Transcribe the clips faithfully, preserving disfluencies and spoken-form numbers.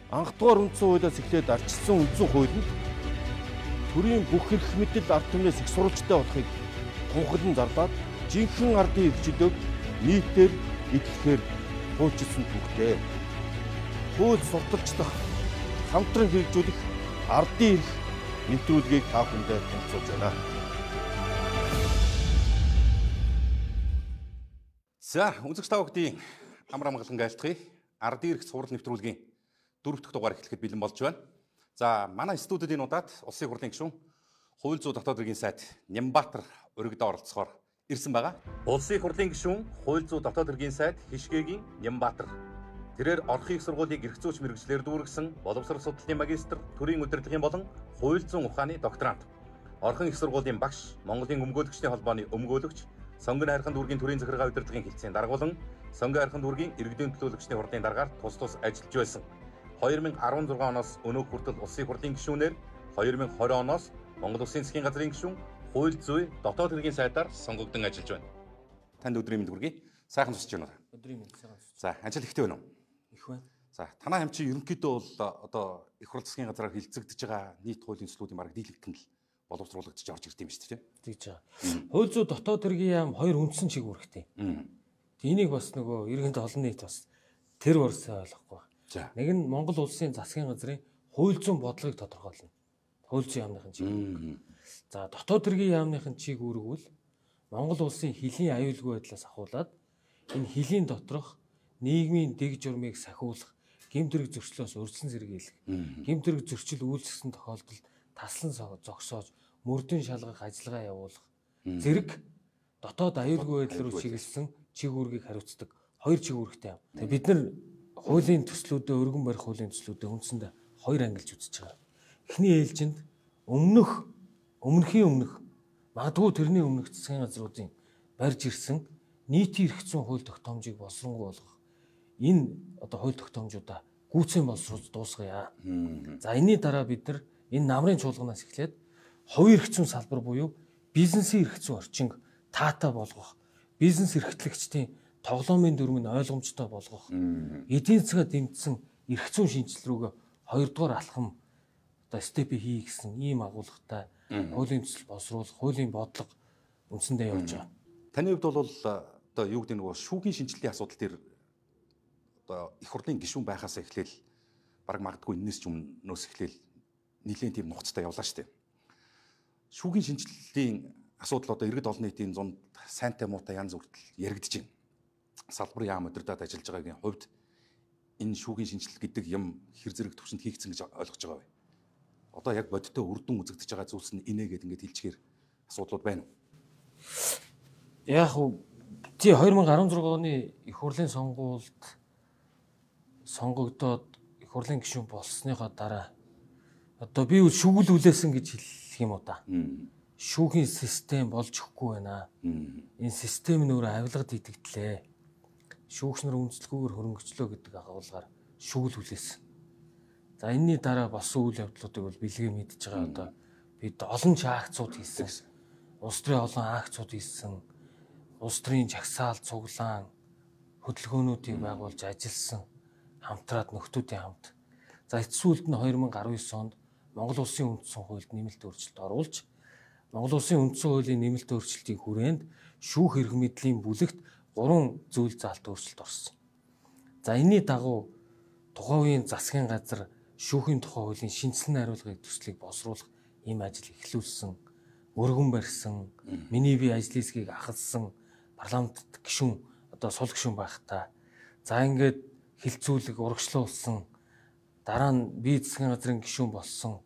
Анх дугаар үндсэн хуулиас эхлээд ардчилсан үндсэн хуулинд төрийн бүх эрх мэдэл ард түмнээс их сурвалжтай болохыг тунхаглан зарлаад жинхэнэ ардын эрхчлөөг нийтээр эдлэхээр хуульчилсан түүхтэй. Хууль сурталчлах, хамтран хэрэгжүүлэх ардын эрх нэвтрүүлгийг та бүхэндээ танилцуулж байна. За, үзэгч та бүхдийн амар амгалан айлтгая. Ардын эрх сурал нэвтрүүлгийн дөрөв дэх дугаар эхлэхэд бэлэн болж байна. За, манай студид энэ удаад Улсын хурлын гишүүн, хууль зүйн дотоод хэргийн сайд Нямбаатар өргөдөө оролцохоор ирсэн байгаа. Улсын хурлын гишүүн, хууль зүйн дотоод хэргийн сайд Хишгээгийн Нямбаатар. Тэрээр орхон их сургуулийг эрх зүйч мэргэжлэр дүүргэсэн боловсрол судлалын магистр, төрийн удирдлагын болон хууль зүйн ухааны докторант. Орхон их сургуулийн багш, Монголын өмгөөлөгчдийн холбооны өмгөөлөгч, Сонгон хайрхан дүүргийн төрийн захиргаа удирдлагын хэлтсийн даргуулан, Сонгон хайрхан дүүргийн иргэдийн төлөөлөгчдийн хурлын даргаар тус тус ажиллаж байсан. две тысячи десять оноос өнөөг хүртэл Улсын хурлын гишүүнээр, две тысячи двадцать оноос Монгол Улсын засгийн газрын гишүүн, хууль зүйн дотоод хэргийн сайдаар сонгогдсон ажиллаж байна. Танд өдрийн мэнд хүргэе. Сайхан тусч байна уу? Өдрийн мэнд сайхан тусч. За, ажил ихтэй байна уу? Их байна. За, танай хамт чи ерөнхийдөө бол одоо их хурл засгийн газраар хилцэгдэж байгаа нийт хуулийн төслүүдийн бараг дийлэгдэн л боловсруулагдчих орж ирд юм шүү дээ. Тэгж байгаа. Хууль зүйн дотоод хэргийн яам хоёр үндсэн чиг үүрэгтэй. Энийг бас нөгөө иргэнд олон нийт бас тэр борсоо ойлгохгүй. Нэг нь Монгол Улсын засгийн газрын хууль зүйн бодлогыг тодорхойлно. Хууль зүйн яамныхын чиг. За, дотоод хэргийн яамныхын чиг үүрэг бол Монгол Улсын хилийн аюулгүй байдлаас ахуулаад энэ хилийн доторх нийгмийн дэг журмыг сахиулах, гэмт хэрэг зөрчлөөс өрчлөн сэргийлэх, гэмт хэрэг зөрчил үйлчлсэн тохиолдолд таслан зогсоож мөрдөн шалгах ажиллагаа явуулах зэрэг дотоод аюулгүй байдал руу чиглэсэн чиг үүргийг хариуцдаг хоёр чиг үүрэгтэй юм. Тэгээ бид нар хуулийн төслүүдэд өргөн барих хуулийн төслүүдэд үндсэндээ хоёр ангилж үзэж байгаа. Эхний ээлжинд өмнөх өмнөхийн өмнөх магадгүй тэрний өмнөх засгийн газруудын барьж ирсэн нийтийн эрх зүйн хууль тогтоомжийг боловсронгуй болгох энэ одоо хууль тогтоомжуудаа гүйцэн боловсруулж дуусгая. За, энэний дараа бид нар энэ намрын чуулганаас эхлээд хувийн эрх зүйн салбар буюу бизнесийн эрх зүйн орчинг таатай болгох, бизнес эрхтлэгчдийн тоглоомын дүрм нь ойлгомжтой болгох, эдийн засгаа дэмжсэн эрх зүйн шинжилэл рүүгээ хоёрдугаар алхам одоо степи хий гэсэн ийм агуулгатай хуулийн төсөл боловсруулах, хуулийн бодлого үндсэндээ явж байгаа. Таны хувьд бол одоо юу гэдэг нөгөө шүүхийн шинжилгээний асуудал дээр одоо их хурлын гишүүн байхаас эхлээл баг магадгүй энэс ч өмнөөс эхлээл нэлийн тийм нухацтай явлаа шүү дээ. Шүүхийн шинжилгээний асуудал одоо иргэд олон нийтийн зунд сайнтай муутай янз бүртэл яригдж байна. Салбарын яам удирдаад ажиллаж байгаагийн хувьд энэ шүүхийн шинжилэл гэдэг юм хэр зэрэг төвшөнд хийгдсэн гэж ойлгож байгаа вэ? Одоо яг бодиттой үрдэн үзэгдэж байгаа зүйлс нь инээ гэдэг ингээд хэлчихээр асуудлууд байна уу? Яг уу тий две тысячи десять оны их хурлын сонгуульд сонгогдоод их хурлын гишүүн болсныхоо дараа одоо би шүүгүүлүүлээсэн гэж хэлэх юм уу та. Шүүхийн систем болж өгөхгүй байна. Энэ систем нь өөрөө авилгад идэгдлээ. Шүүгч нар үндэслэлгүйгээр хөрөнгөчлөө гэдэг агуулгаар шүүгүүлүүлээсэн. За, энэний дараа болсон үйл явдлуудыг бол бэлгээ мэдж байгаа. Одоо бид олон ч акцууд хийсэн. Улс төрийн олон акцууд хийсэн. Улс төрийн жагсаал, цуглаан хөдөлгөөнүүдийг байгуулж ажилласан. Хамтраад нөхдүүдийн хамт. За, эцсүүлд нь две тысячи десять онд Монгол Улсын үндсэн хуульд нэмэлт өөрчлөлт оруулж, Монгол Улсын үндсэн хуулийн нэмэлт өөрчлөлтийн хүрээнд шүүх эрх мэдлийн бүлэгт гурван зүйл заалт өөрчлөлт орсон. За, энэний дагуу тухайн үеийн засгийн газар шүүхийн тухай хуулийн шинжилсэн хариулгын төслийг боловсруулах ийм ажил эхлүүлсэн, өргөн барьсан, миний бие ажлын хэсгийг ахалсан парламентт гишүүн одоо сул гишүүн байхдаа за ингээд хилцүүлэг урагшлуулсан, дараа нь би засгийн газрын гишүүн болсон,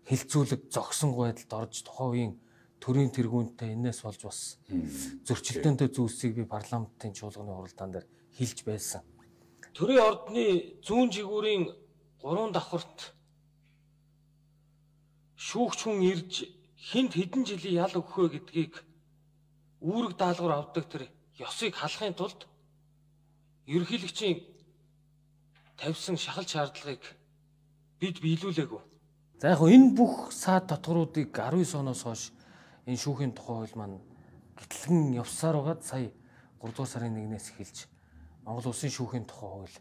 хилцүүлэг зогсон байдалд орж тухайн үеийн төрийн тэргүүнтэй энэс болж бас зөрчилдөөнтэй зүйлсийг би парламентын чуулганы хуралдаан дээр хэлж байсан. Төрийн ордны зүүн жигүүрийн гурван давхарт шүүгч хүн ирж хинт хэдэн жилийн ял өгөх вэ гэдгийг үүрэг даалгавар авдаг тэр ёсыг халахын тулд ерөнхийлөгчийн тавьсан шахал шаардлагыг бид биелүүлээгүй. За, яг энэ бүх саад татваруудыг десять оноос хойш энэ шүүхийн тухай хууль маань гэтлэн явсаар байгаад сая гурав дугаар сарын нэгнээс эхэлж Монгол Улсын шүүхийн тухай хууль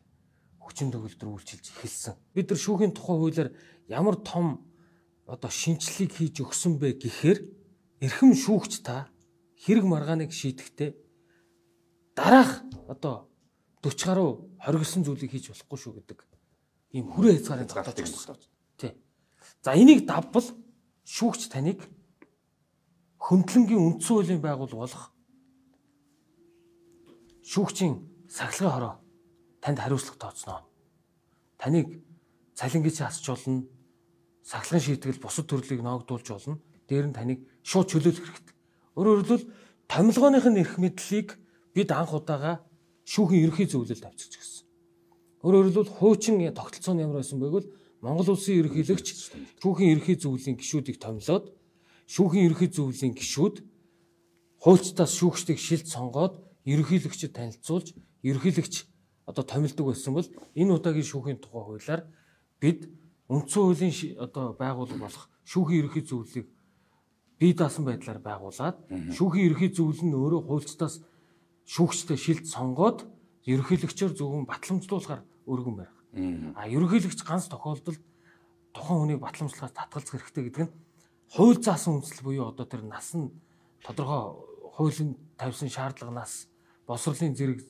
хүчин төгөлдөр үйлчилж эхэлсэн. Бид нар шүүхийн тухай хуулиар ямар том одоо шинжилгээг хийж өгсөн бэ гэхээр эрхэм шүүгч та хэрэг маргааныг шийдэхдээ дараах одоо дөрвөн гаруй хоригдсон зүйлийг хийж болохгүй шүү гэдэг ийм хүрээ хязгаарын тогтоож өгсөн. Тий. За энийг давбал шүүгч таныг хөндлөнгийн үндсэн хуулийн байгуул болох шүүгчийн сахилгын хороо танд хариуцлага тооцноо. Таныг цалингич хасч болно, сахилгын шийтгэл бусад төрлийг ноогдуулж болно. Дээр нь таныг шууд чөлөөлөх хэрэгтэй. Өөрөөр хэлбэл томилгооных нь эрх мэдлийг бид анх удаага шүүхийн ерөнхий зөвлөлд авчирч гисэн. Өөрөөр хэлбэл хуучин тогтолцоо нь ямар байсан бэ гэвэл Монгол улсын ерөнхийлөгч шүүхийн ерөнхий зөвлөлийн гишүүдийг томилоод шүүхийн ерөнхий зөвлөлийн гишүүд хуульчдаас шүүгчдийг шилд сонгоод ерөнхийлөгчөд танилцуулж ерөнхийлөгч одоо томилдог байсан бол энэ удаагийн шүүхийн тухай хуулиар бид үндсэн хуулийн одоо байгууллага болох шүүхийн ерөнхий зөвлөлийг бие даасан байдлаар байгуулад шүүхийн ерөнхий зөвлөл нь өөрөө хуульчдаас шүүгчтэй шилд сонгоод ерөнхийлөгчөөр зөвхөн батламжлуулахаар өргөн барих. А ерөнхийлөгч ганц тохиолдолд тухайн хүнийг батламжлахаас татгалзах хэрэгтэй гэдэг нь хууль заасан үндсэл буюу одоо тэр нас нь тодорхой хуулийн тавьсан шаардлаганаас босрлын зэрэг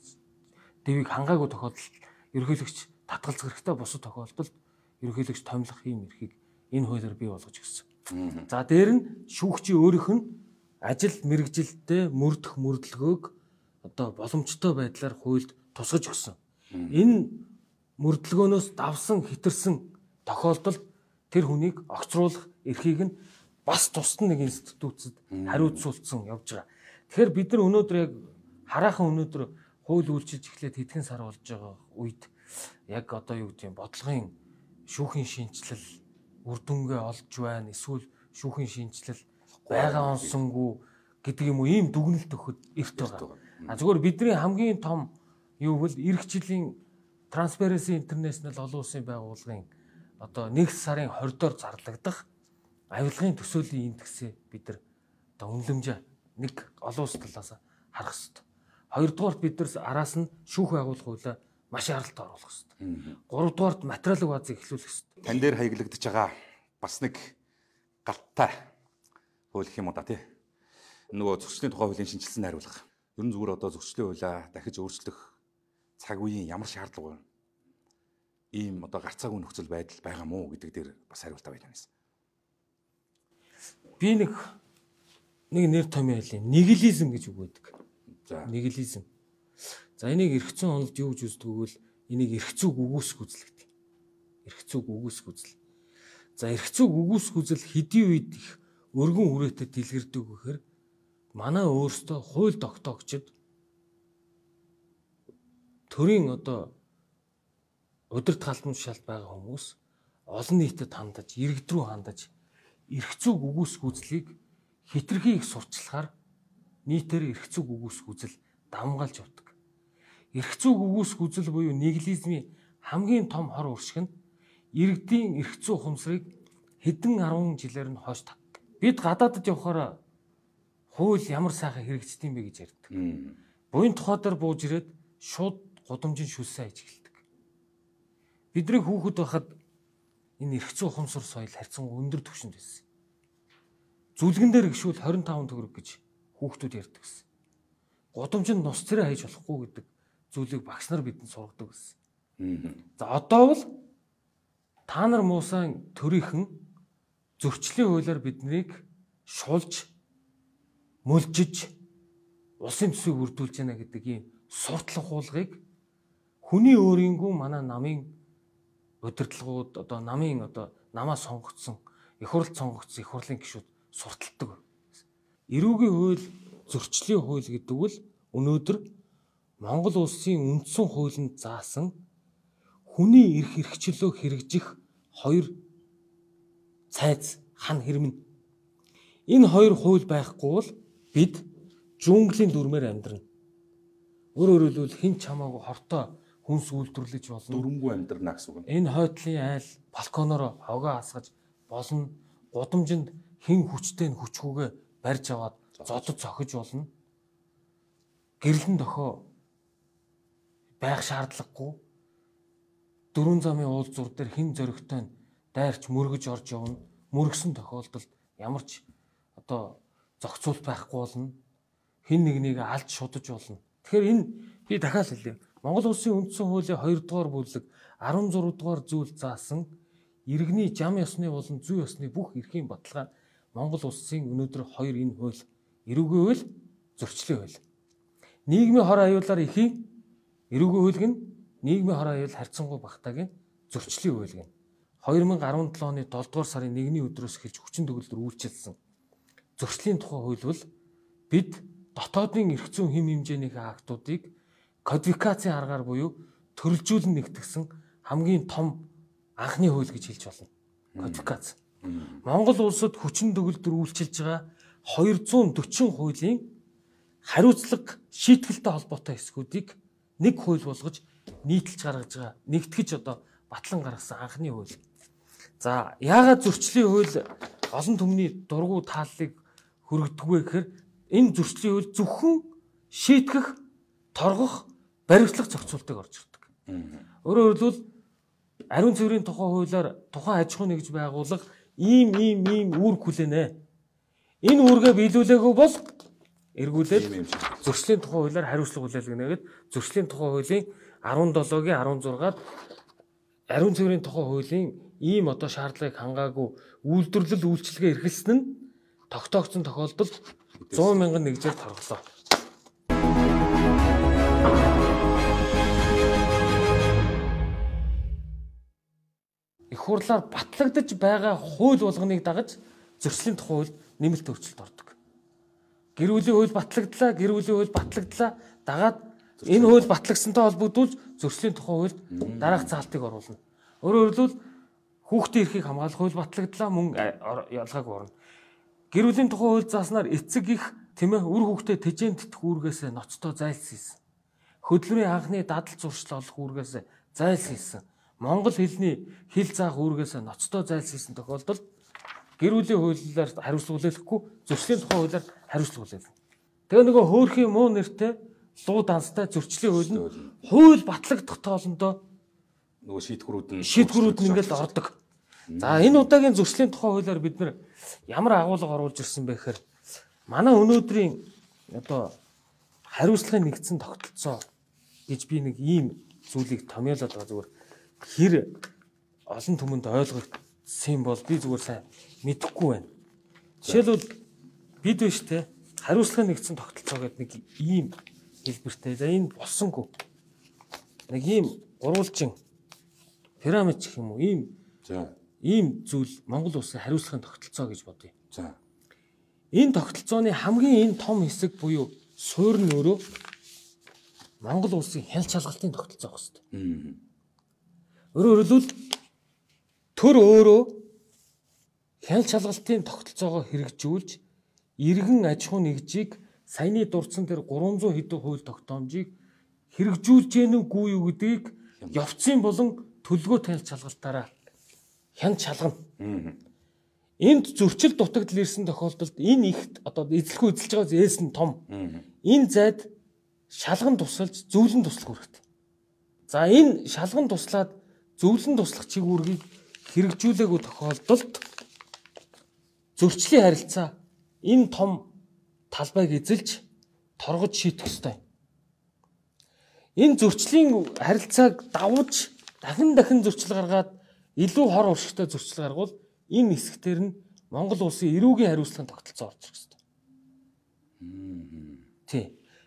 дэвийг хангаагүй тохиолдолд ерөнхийлөгч татгалзах хэрэгтэй, бусад тохиолдолд ерөнхийлөгч томилох юм эрхийг энэ хуулиар бий болгож өгсөн. За дээр нь шүүгчийн өөрийнх нь ажил мэргэжилтэд мөрдөх мөрдлөгөөг одоо боломжтой байдлаар хуульд тусгаж өгсөн. Энэ мөрдлөгөөнөөс давсан хэтэрсэн тохиолдолд тэр хүнийг огцруулах эрхийг нь бас тусад нэг институтад хариуцуулсан явж байгаа. Тэгэхээр бид нар өнөөдөр яг хараахан өнөөдөр хууль үйлчилж эхлээд хэдхэн сар болж байгаа үед яг одоо юу гэдэг юм бодлогын шүүхийн шинжилэл үр дүнгээ олж байна, эсвэл шүүхийн шинжилэл байгаа онсонгүй гэдэг юм уу, ийм дүгнэлт өгөхөд эрт байгаа. А зүгээр бидний хамгийн том юу бол эх жилийн Transparency International олон улсын байгууллагын одоо нэг сарын хордоор зарлагдах авилгын төсөөлийн индексээ бид нар одоо үнэлэмж нэг олон улс талаас харах хэрэгтэй. Хоёрдугаарт бид нар араас нь шүүх байгуулах хуулиа маш аралт оруулах хэрэгтэй. Гуравдугаарт материалын баазыг эхлүүлэх хэрэгтэй. Тань дээр хаягдж байгаа бас нэг галттай хууль юм уу да тий. Нөгөө зөрчлийн тухай хуулийн шинжилсэн хариулга. Ер нь зүгээр одоо зөрчлийн хуулиа дахиж өөрчлөх цаг үеийн ямар шаардлага вэ? Ийм одоо гарцаагүй нөхцөл байдал байгаа мó гэдэг дээр бас хариултаа байж байна. Би нэг нэг нэр томьёо хэлээ. Нигилизм гэж үг байдаг. За нигилизм. За энийг эрх зүйн онолд юу гэж үздэг вэ? Энийг эрх зүйг үгүйсэх үзэл гэдэг. Эрх зүйг үгүйсэх үзэл. За эрх зүйг үгүйсэх үзэл хэдийн үед их өргөн үрээтэй дэлгэрдэг гэхээр манай өөрсдөө хууль тогтоогчид төрийн одоо удирд халдмал шалт байгаа хүмүүс олон нийтэд хандаж, иргэд рүү хандаж эрх зүйг үгүйсэх үзлийг хитрхи их сурчлахаар нийтээр эрх зүйг үгүйсэх үзэл давмгаалж явдаг. Эрх зүйг үгүйсэх үзэл буюу нигилизмийн хамгийн том хор уршиг нь иргэдийн эрх зүй ухамсарыг хэдэн арван жилээр нь хойш татдаг. Бид гадаадд явхаараа хууль ямар сайхан хэрэгждэг юм бэ гэж ярьдаг. Буян тухай дээр бууж ирээд шууд гудамжин шүлсэн хийж эхэлдэг. Бидний хүүхэд байхад энэ эрх зүй ухамсар соёл харьцангуй өндөр түвшинд байсан. Зүлгэн дээр гişүүл хорин таван төгрөг гэж хүүхдүүд ярьдаг гэсэн. Гудамжинд нус царай хийж болохгүй гэдэг зүйлийг багш нар бидэнд сургадаг гэсэн. За одоо бол та нар муусан төрийнхэн зөрчлийн хуулиар биднийг шулж мөлжиж улсын төсвийг үрдүүлж яана гэдэг ийм суртлах хуулгыг хүний өөрийнхөө манай намын удирдлагууд одоо намын одоо намаа сонгогдсон их хурл сонгогдсон их хурлын гишүүд сурталдаг. Эрүүгийн хууль, зөрчлийн хууль гэдэг бол өнөөдөр Монгол улсын үндсэн хуулинд заасан хүний эрх эрхчлөө хэрэгжих хоёр цайз хан хэрмэн. Энэ хоёр хууль байхгүй бол бид жунглийн дүрмээр амьдрна. Өөрөөр хэлбэл хэн ч хамаагүй хортой хүнс үйлдвэрлэж болно. Дүрмгүй амьдрна гэсэн үг. Энэ хойтлын айл балконоор хогоо хасгаж болно. Гудамжинд хэн хүчтэй нь хүчгүйгээ барьж аваад зодод цохиж болно. Гэрлэн дохоо байх шаардлагагүй. дөрвөн замын уулзуур дээр хин зөрөгтэй нь дайрч мөргөж орж явна. Мөргсөн тохиолдолд ямар ч одоо зохицуулт байхгүй болно. Хин нэгнийг алж шудаж болно. Тэгэхээр энэ би дахиад хэлье. Монгол Улсын үндсэн хуулийн хоёр дугаар бүлэг арван зурав дугаар зүйл заасан иргэний зам ёсны болон зүй ёсны бүх эрхийн баталгаа Монгол Улсын өнөөдөр хоёр энэ хууль эрүүгийн хууль, зөрчлийн хууль. Нийгмийн хор аюулаар ихийн эрүүгийн хууль гин нийгмийн хор аюул харьцангуй багтаагийн зөрчлийн хууль гин хоёр мянга арван долоо оны долоо дугаар сарын нэгний өдрөөс эхэлж хүчин төгөлдөр үйлчилсэн зөрчлийн тухай хууль бол бид дотоодын эрх зүйн хэм хэмжээнийхээ актуудыг кодификацийн аргаар буюу төрөлжүүлэн нэгтгэсэн хамгийн том анхны хууль гэж хэлж болно. Кодификац. Монгол улсад хүчин төгөлдөр үйлчилж байгаа хоёр зуун дөрвөн хуулийн хариуцлага шийтгэлтэй холбоотой хэсгүүдийг нэг хууль болгож нийтэлж гаргаж байгаа. Нэгтгэж одоо батлан гаргасан анхны хууль. За, яагаад зөрчлийн хууль олон түмний дургу тааллыг хүргэдэг вэ гэхээр энэ зөрчлийн хууль зөвхөн шийтгэх, торгох, баримтлах зохицуултыг орж ирдэг. Өөрөөр хэлбэл ариун цэврийн тухай хуулиар тухайн аж ахуйн нэгж байгууллага ийм ийм ийм үүрэг хүлээнэ. Энэ үүргээ биелүүлээгүй бол эргүүлээд зөрчлийн тухай хуулиар хариуцлага хүлээлгэнэ гэдэг зөрчлийн тухай хуулийн арван долоогийн арван зургаад ариун цэврийн тухай хуулийн ийм одоо шаардлагыг хангаагүй үйлдвэрлэл үйлчилгээ эрхэлсэн нь тогтоогдсон тохиолдолд зуун мянган нэгжээр торглоо. Их хурлаар батлагдаж байгаа хууль болгоныг дагаж зөрчлийн тухай хууль нэмэлт өөрчлөлт ордог. Гэр бүлийн хууль батлагдлаа, гэр бүлийн хууль батлагдлаа дагаад энэ хууль батлагдсантай холбогдуулж зөрчлийн тухай хуульд дараах заалтыг оруулна. Өөрөөр хэлбэл хүүхдийн эрхийг хамгаалах хууль батлагдлаа мөн ялгаагүй орно. Гэр бүлийн тухай хууль зааснаар эцэг их тийм ээ үр хүүхдээ тэжээн тэтгэх үүргээс ноцтой зайлсхийсэн. Хөдөлмөрийн анхны дадал зуршил олох үүргээс зайлсхийсэн. Монгол хэлний хэл заах үүргээс ноцтой зайлсхийсэн тохиолдолд гэр бүлийн хуулиар хариуцлага хүлээхгүй зөрчлийн тухай хуулиар хариуцлага хүлээлгэнэ. Тэгээ нөгөө хөөрхийн муу нэртэй луу данстай зөрчлийн хууль нь хууль батлагдах тоолондоо нөгөө шийдвэрүүд нь шийдвэрүүд нь ингээд ордог. За энэ удаагийн зөрчлийн тухай хуулиар бид нар ямар агуулга оруулж ирсэн бэ гэхээр манай өнөөдрийн одоо хариуцлагын нэгдсэн тогтолцоо гэж би нэг ийм зүйлийг томьёолоод байгаа зүгээр хэр олон түмэнд ойлгогдсон бол би зүгээр сайн мэдэхгүй байна. Жишээлбэл бид биш те хариуцлагын нэгдсэн тогтолцоо гэдэг нэг ийм хэлбэртэй. За энэ болсонгүй. Нэг ийм гурвалжин пирамид гэх юм уу ийм за ийм зүйл Монгол улсын хариуцлагын тогтолцоо гэж бодъё. За. Энэ тогтолцооны хамгийн энэ том хэсэг буюу суурь нь өөрөө Монгол улсын хяналт шалгалтын тогтолцоо хэвчээ. Өөрөөр хэлбэл төр өөрөө хяналт шалгалтын тогтолцоогоо хэрэгжүүлж иргэн аж ахуй нэгжийг саяны дурдсан тэр гурван зуун хэдэн хууль тогтоомжийг хэрэгжүүлж гэнэ үгүй юу гэдгийг явцын болон төлгөө хяналт шалгалтаараа хяналт шалгана. Энд зөрчил дутагдал ирсэн тохиолдолд энэ их одоо эзлэхгүй эзэлж байгаа зээс нь том. Энэ зайд шалган тусалж зөвлөн туслах хэрэгтэй. За энэ шалган туслаад зөвлөн туслах чиг үүргийг хэрэгжүүлээгүй тохиолдолд зөрчлийн харилцаа энэ том талбайг эзэлж торгож шийдэх ёстой. Энэ зөрчлийн харилцааг давж дахин дахин зөрчил гаргаад илүү хор уршигтай зөрчил гаргавал энэ хэсгээр нь Монгол улсын эрүүгийн хариуцлагын тогтолцоо орж ирэх ёстой. Тий.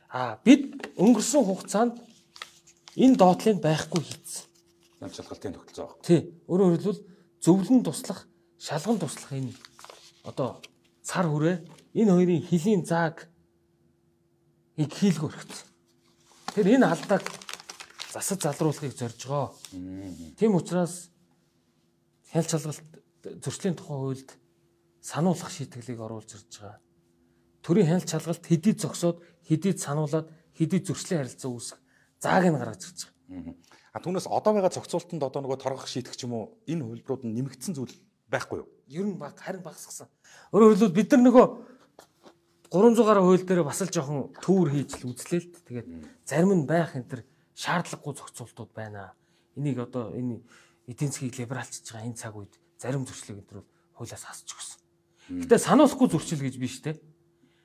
А бид өнгөрсөн хугацаанд энэ доотлыг байхгүй хийсэн. Хяналт шалгалтын тогтолцоо. Тий. Өөрөөр хэлбэл зөвлөн туслах, шалган туслах энэ одоо цар хүрээ энэ хоёрын хилийн зааг ийг хийлгүү хэрэгтэй. Тэр энэ алдааг засаж залруулахыг зорж байгаа. Тийм учраас хяналт шалгалт зөрчлийн тухай хуульд сануулгах шийтгэлийг оруулж ирж байгаа. Төрийн хяналт шалгалт хэдий зогсоод, хэдий сануулад, хэдий зөрчлийн харилцаа үүсэх зааг нь гаргаж ирж байгаа. А түүнээс одоо байгаа зохицуултанд одоо нөгөө торгох шийтгэх ч юм уу энэ хувилбарууд нь нэмэгдсэн зүйл байхгүй юу? Ер нь баг харин багасгасан. Өөрөөр хэлбэл бид нар нөгөө гурван зуун гаруй хууль дээр бас л жоохон төвөр хийж л үзлээ л. Тэгээд зарим нь байх энэ төр шаардлагагүй зохицуултууд байна. Энийг одоо энэ эдийн засгийг либералчж байгаа энэ цаг үед зарим зөрчлийг өдрөөр хуулиас хасч өгсөн. Гэтэ сануулахгүй зөрчил гэж биш те.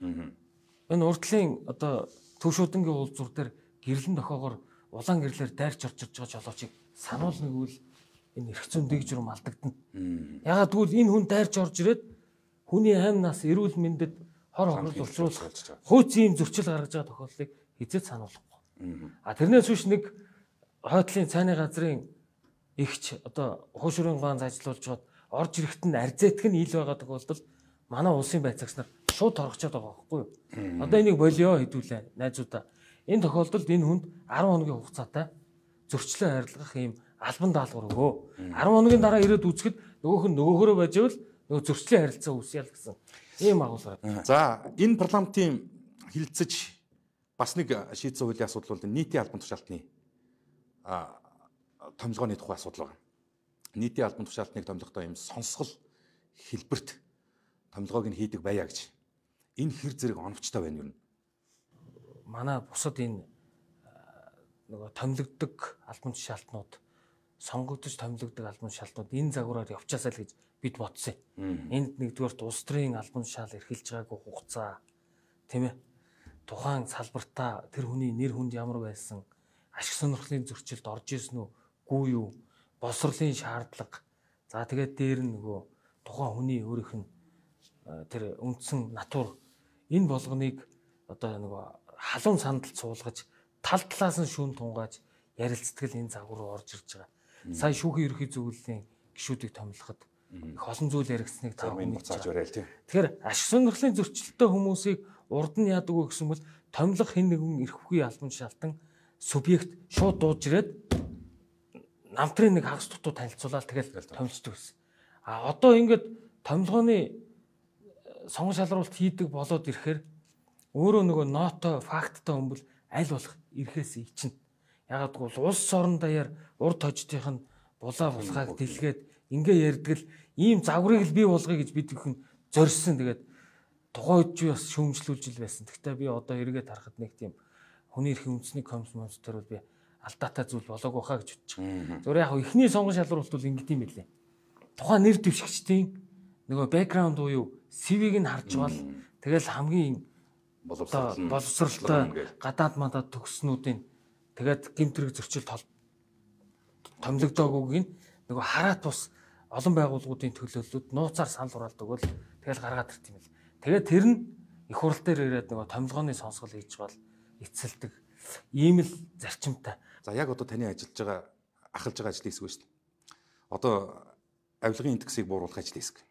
Энэ урдлын одоо төвшөөдөнгийн уулзуур дээр гэрлэн дохоогоор улаан гэрлэр дайрч орж ирж байгаа жолоочийг сануулна гэвэл энэ эрх зүйн дээгжрүүм алдагдана. Ягаад гэвэл энэ хүн дайрч орж ирээд хүний аймнаас эрүүл мэндэд хор хохирол учруулах хууц ийм зөрчил гаргаж байгаа тохиолдлыг хизээд сануулахгүй. А тэрнээс биш нэг хойдлын цайны газрын ихч одоо хуушрын гаан ажиллуулж байгаад орж ирэхэд нь арзэтг нь ил байгаа тохиолдолд манай улсын байцаагч нар шууд торгочод байгаа байхгүй юу? Одоо энийг болио хэдүүлээ найзуудаа. Энэ тохиолдолд энэ хүнд арван хоногийн хугацаатай зөрчлөө харилцах ийм албан даалгавар өгөө. арван хоногийн дараа ирээд үзэхэд нөгөөх нь нөгөөхөрөө байж байвал нөгөө зөрчлийн харилцаа үүсээл гэсэн ийм агуулгаар. За энэ парламентын хилцэж бас нэг шийдсэн хуулийн асуудал бол нийтийн албан тушаалтны томилгооны тухай асуудал байна. Нийтийн албан тушаалтныг томилохдоо ийм сонсгол хэлбэрт томилгоог нь хийдэг байя гэж. Энэ хэр зэрэг оновчтой байна юу? Манай бусад энэ нөгөө томилогддог албан тушаалтнууд, сонгогдож томилогддог албан тушаалтнууд энэ загвараар явчаасаа л гэж бид бодсон юм. Энд нэгдүгээрт улс төрийн албан тушаал эрхэлж байгаагүй хугацаа, тийм ээ. Тухайн салбартаа тэр хүний нэр хүнд ямар байсан, ашиг сонирхлын зөрчилд орж ирсэн үү, гүй юу, боловсролын шаардлага. За тэгээд дээр нь нөгөө тухайн хүний өөрийнх нь тэр үндсэн натур энэ болгоныг одоо нөгөө халуун сандалд суулгаж тал талаас нь шүүн тунгааж ярилцдаг энэ загвар руу орж ирж байгаа. Сая шүүхийн ерөнхий зөвлөлийн гишүүдийг томилоход их олон зүйл яригдсныг та бүхэн зааж барайл тий. Тэгэхээр ашиг сонирхлын зөрчилттэй хүмүүсийг урд нь яадаг вэ гэсэн бол томилох хэн нэгэн эрх бүхий албан тушаалтан субъект шууд дууж ирээд намтрын нэг хагас дутуу танилцуулаад тэгэл томилчдөг гэсэн. А одоо ингээд томилгооны сонгон шалруулалт хийдэг болоод ирэхээр өөрөө нөгөө ноото факттай хүмүүс аль болох ирэхээс ичнэ. Ягаад гэвэл улс орон даяар урд хождынх нь булаа булгааг дэлгээд ингээ ярьдаг л ийм загварыг л бий болгоё гэж бид бүхэн зорьсон. Тэгээд тухайн үед ч бас шүүмжлүүлж ил байсан. Гэхдээ би одоо эргээд харахад нэг тийм хүний эрхийн үндэсний комиссион төр бол би алдаатай зүйл болоогүй хаа гэж бодож байгаа. Зүгээр яг ихний сонгон шалралт бол ингэдэм юм билээ. Тухайн нэр дэвшигчдийн нөгөө бэкграунд буюу си ви-г нь харж бол тэгэл хамгийн боловсралтай гадаад мандаад төгснүүдийн тэгээд гэмтрэг зөрчил томилогдоогүйг нь нөгөө хараат бус олон байгууллагуудын төлөөллүүд нууцаар санал хураалт өгөөл тэгэл гаргаад ирт юм л. Тэгээд тэр нь их хурал дээр ирээд нөгөө томилгооны сонсгол хийж бол эцэлдэг ийм л зарчимтай. За яг одоо таны ажиллаж байгаа ахалж байгаа ажлын хэсэг шүү дээ. Одоо авилгын индексийг бууруулах ажлын хэсэг.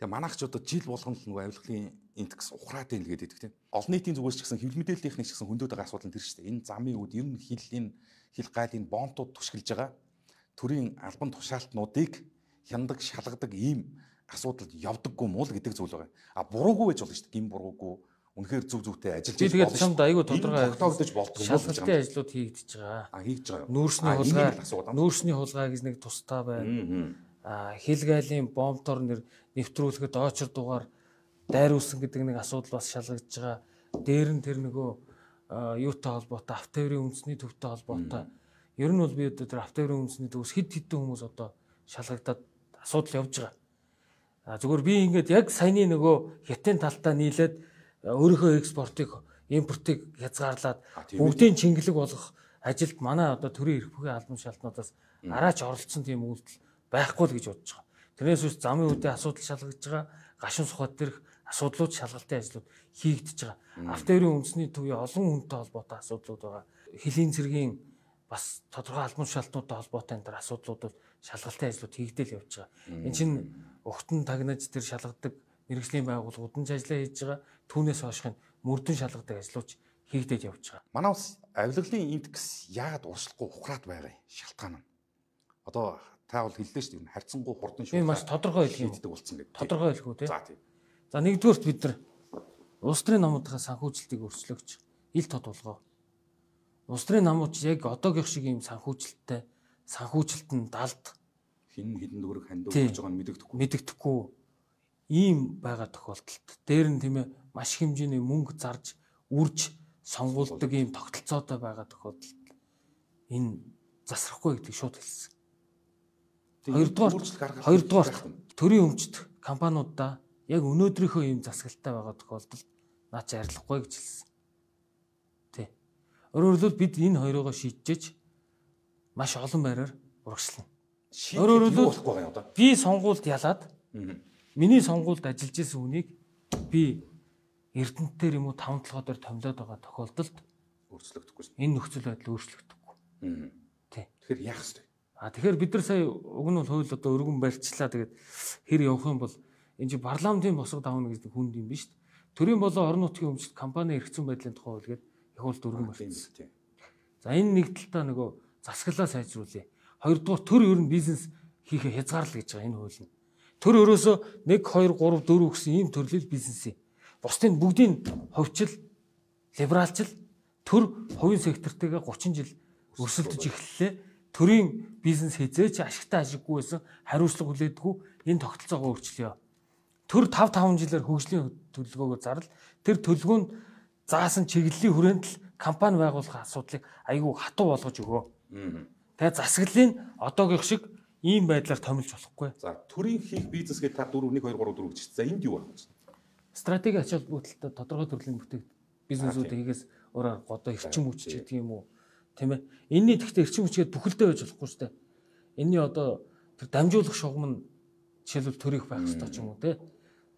Тэгээ манайх ч одоо жил болгоно л нөгөө авилгын индекс ухраад байна л гэдэг тийм. Олон нийтийн зүгээс ч гэсэн хэвлэл мэдээллийн техник ч гэсэн хөндөд байгаа асуудал нь тэр шүү дээ. Энэ замын үд ер нь хил энэ хил гайлын бонтууд түшгэлж байгаа төрийн албан тушаалтнуудыг хяндаг шалгадаг ийм асуудалд явдаггүй муу л гэдэг зүйл байгаа. А буруугүй байж болно шүү дээ. Гин буруугүй үнэхээр зөв зөвтэй ажиллаж байгаа. Тэгээд чамд айгүй тодорхой тогтоогдож болдог юм. Шалгалтын ажлууд хийгдэж байгаа. А хийж байгаа. Нүүрсний хулгай, нүүрсний хулгай гэж нэг тустай байна. А хил гайлын бомбтор нэр нэвтрүүлэхэд очор дугаар дайруулсан гэдэг нэг асуудал бас шалгагдж байгаа. Дээр нь тэр нөгөө юутай холбоотой автоврын үндэсний төвтэй холбоотой. Ер нь бол би одоо тэр автоврын үндэсний төвс хэд хэдэн хүмүүс одоо шалгагдаад асуудал явж байгаа. А зүгээр би ингээд яг саяны нөгөө хятадын талтаа нийлээд өөрийнхөө экспортыг, импортыг хязгаарлаад бүгдийн чингэлэг болгох ажилд манай одоо төрийн эрх бүхий албан шалтнуудаас араач оролцсон тийм үйлдэл байхгүй л гэж бодож байгаа. Тэрнээс үс замын үдээ асуудал шалгагдж байгаа, гашуун сухад дээрх асуудлууд шалгалтын ажлууд хийгдэж байгаа. Автоврын үндэсний төвийн олон хүнтэй холбоотой асуудлууд байгаа. Хөлийн цэргийн бас тодорхой албан шалтнуудтай холбоотой энэ төр асуудлууд шалгалтын ажлууд хийгдэл явж байгаа. Энэ чинь өгтөн тагнаж тэр шалгадаг мэргэжлийн байгууллагууд нь ажиллаа хийж байгаа. Түүнээс хойшх нь мөрдөн шалгадаг ажлууч хийгдэл явж байгаа. Манай улс авилгалын индекс яагаад уршилахгүй ухраад байгаа юм? Шалтгаан нь. Одоо та бол хэллээ шүү дээ. Харьцангуй хурдан шүү. Би маш тодорхой хэлэх хийдэг болсон гэдэг. Тодорхой хэлэх үү те. За тийм. За нэгдүгээрт бид нар улс төрийн намуудынхаа санхүүжилтийг өрсөлдөгч ил тод болгоо. Улс төрийн намууд яг одоогийн шиг ийм санхүүжилттэй санхүүжилт нь далд хин хідэн дөрөг хандив гэж байгаа нь мэдэгдэхгүй. Мэдэгдэхгүй ийм байгаа тохиолдолд дээр нь тийм ээ маш хэмжээний мөнгө зарж үрж сонгуулдаг ийм тогтолцоотой байгаа тохиолдолд энэ засрахгүй гэдгийг шууд хэлсэн. Хоёрдугаар хоёрдугаар төрийн өмчт компаниудаа яг өнөөдрийнхөө ийм засаглалтай байгаа тохиолдолд наа чи арилахгүй гэж хэлсэн. Тэ. Өөрөөр хэлбэл бид энэ хоёроо шийдчихэж маш олон байраар урагшлана. Өөрөөр хэлбэл би сонгуульд ялаад миний сонгуульд ажиллаж исэн хүнийг би Эрдэнэтээр юм уу таван толгой дээр томилоод байгаа тохиолдолд өөрчлөгдөхгүй. Энэ нөхцөл байдал өөрчлөгдөхгүй. Тэ. Тэгэхээр яах вэ? А тэгэхээр бид нар сая уг нь бол хууль одоо өргөн барьчлаа тэгээд хэр явах юм бол энэ чи парламентын босго давна гэдэг хүнд юм биш үү? Төрийн болон орон нутгийн өмчт компани эрхцэн байдлын тухай хууль гэдэг их хууль өргөн барьсан. За энэ нэг талтаа нөгөө засаглалаа сайжруулъя. Хоёрдугаар төр ер нь бизнес хийхэ хязгаарлал гэж байгаа энэ хууль нь. Төр өрөөсөө нэг хоёр гурав дөрөв гэсэн ийм төрлөл бизнес. Бусдын бүгдийн ховчил, либералчил төр хувийн сектортэйгээ гучин жил өрсөлдөж эхэллээ. Төрийн бизнес хязээч ашигтай ашиггүй байсан хариуцлага хүлээдэггүй энэ тогтолцоогоо өөрчлөё. Төр тавь таван жилээр хөгжлийн төлөвлөгөөгөө зарлал тэр төлөвлөгөөнд заасан чиглэлийн хүрээнд л компани байгуулах асуудлыг айгүй хатуу болгож өгөө. Тэгээ засаглалын одоогийнх шиг ийм байдлаар томилж болохгүй. За төрийн хийх бизнес гэдэг та дөрөв нэг хоёр гурав дөрөв гэж. За энд юу байна? Стратеги ач холбогдолтой тодорхой төрлийн бүтээгдэхүүн бизнесүүд хийгээс өөрөөр одоо эрчим хүч гэдэг юм уу? Тийм ээ. Энийний тэгтээ эрчим хүчгээ бүхэлдээ байж болохгүй шүү дээ. Энийний одоо тэр дамжуулах шугам нь жишээлбэл төрөх байх хэрэгтэй ч юм уу те.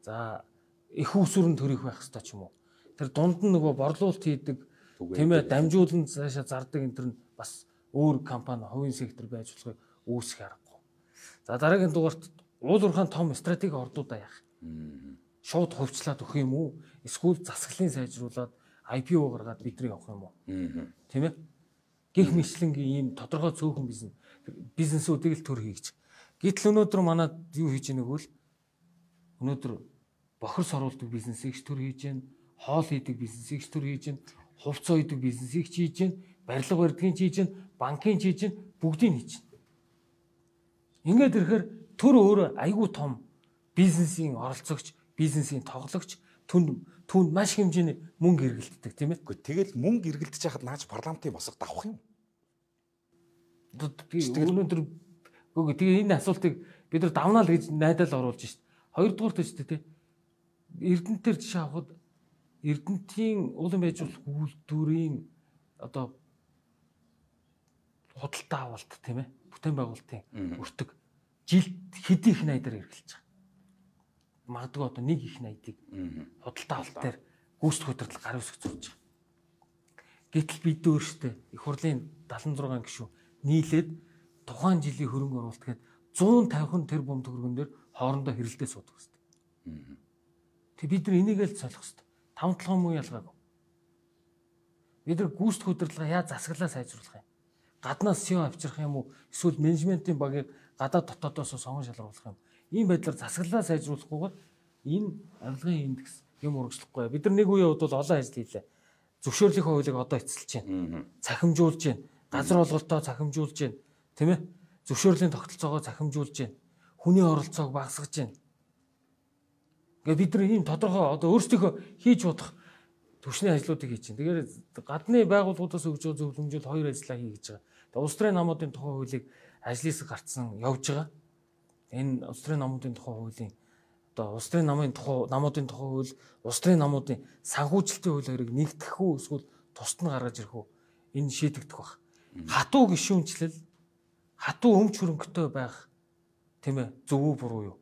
За их усүрэн төрөх байх хэрэгтэй ч юм уу. Тэр дунд нь нөгөө борлуулалт хийдэг тийм ээ дамжуулан цаашаа зардаг энэ төр нь бас өөр компани хувийн сектор байж болохыг үүсэх аргагүй. За дараагийн дугаарт уул уурхайн том стратеги ордуудаа яах. Шууд хувьчлаад өгөх юм уу? Эсвэл засаглалын сайжруулад ай пи о гаргаад бидний явах юм уу? Тийм ээ. Гэх мэтлэнгийн ийм тодорхой цөөхөн бизнес бизнесүүдийг л төр хийж. Гэтэл өнөөдөр манад юу хийж байгааг бол өнөөдөр бохир соруулдаг бизнесийг ч төр хийж байна, хоол хийдэг бизнесийг ч төр хийж байна, хувцас ойдог бизнесийг ч хийж байна, барилга барьдгийн ч хийж байна, банкын ч хийж байна, бүгдийг хийж байна. Ингээд ирэхээр төр өөрөө айгүй том бизнесийн оролцогч, бизнесийн тоглогч, түнд түнд маш хэмжээний мөнгө эргэлддэг тийм ээ. Гэхдээ тэгэл мөнгө эргэлдэж хахад нааж парламентын босго давах юм. Өнөөдөр үгүй тэгээ энэ асуултыг бид нар давнаа л гэж найдаал оруулж шít. Хоёрдугаар төстэй тий. Эрдэнэтээр жишээ авахад Эрдэнэтийн улан байж болох үйлдвэрийн одоо худалдаа авалт тийм ээ. Бүтээн байгуулалтын өртөг жилд хэдийн их найдаар эргэлж байгаа. Магадгүй одоо нэг их найдыг худалдаа авалт дээр гүйцэтгэх удирдлага гар үсгэж зурж байгаа. Гэтэл бид өөрсдөө их хурлын дагалан зургаан гишүүн нийлээд тухайн жилийн хөрөнгө оруулалт гээд зуун тавих тэрбум төгрөгөн дээр хоорондоо хэрэлдээ суудаг хэвээр. Тэг бид нар энийг л солих хэвээр. Таван толгой муу ялгаагүй. Бид нар гүйцэтгэх удирдлага яаж засаглаа сайжруулах юм? Гаднаас си и о авчрах юм уу? Эсвэл менежментийн багийг гадаад дотоодоос сонгон шалгаруулах юм? Ийм байдлаар засаглаа сайжруулахгүйгээр энэ авилгын индекс юм урагшлахгүй. Бид нар нэг үеийн хувьд бол олон ажил хийлээ. Зөвшөөрлөх хуулийг одоо эцэлж байна. Цахимжуулж байна. Газар олголтоо цахимжуулж байна. Тийм ээ? Зөвшөөрлийн тогтолцоогоо цахимжуулж байна. Хүний оролцоог багасгаж байна. Ингээ бид нар ийм тодорхой одоо өөрсдийнхөө хийж бодох түвшний ажлуудыг хийж байна. Тэгэхээр гадны байгууллагуудаас өгж байгаа зөвлөмжөд хоёр ажиллаа хий гэж байгаа. Тэгээ улс төрийн намуудын тухай хуулийг ажлаас гарцсан явж байгаа. Энэ улс төрийн намуудын тухай хуулийн одоо улс төрийн намын тухай намуудын тухай хууль, улс төрийн намуудын санхүүжилтийн хууль хоёрыг нэгтгэх үү эсвэл тусад нь гаргаж ирэх үү? Энэ шийдэгдэх баг. Хатуу гишүүнчлэл, хатуу өмч хөрөнгөтэй байх тийм ээ зөв үү буруу юу?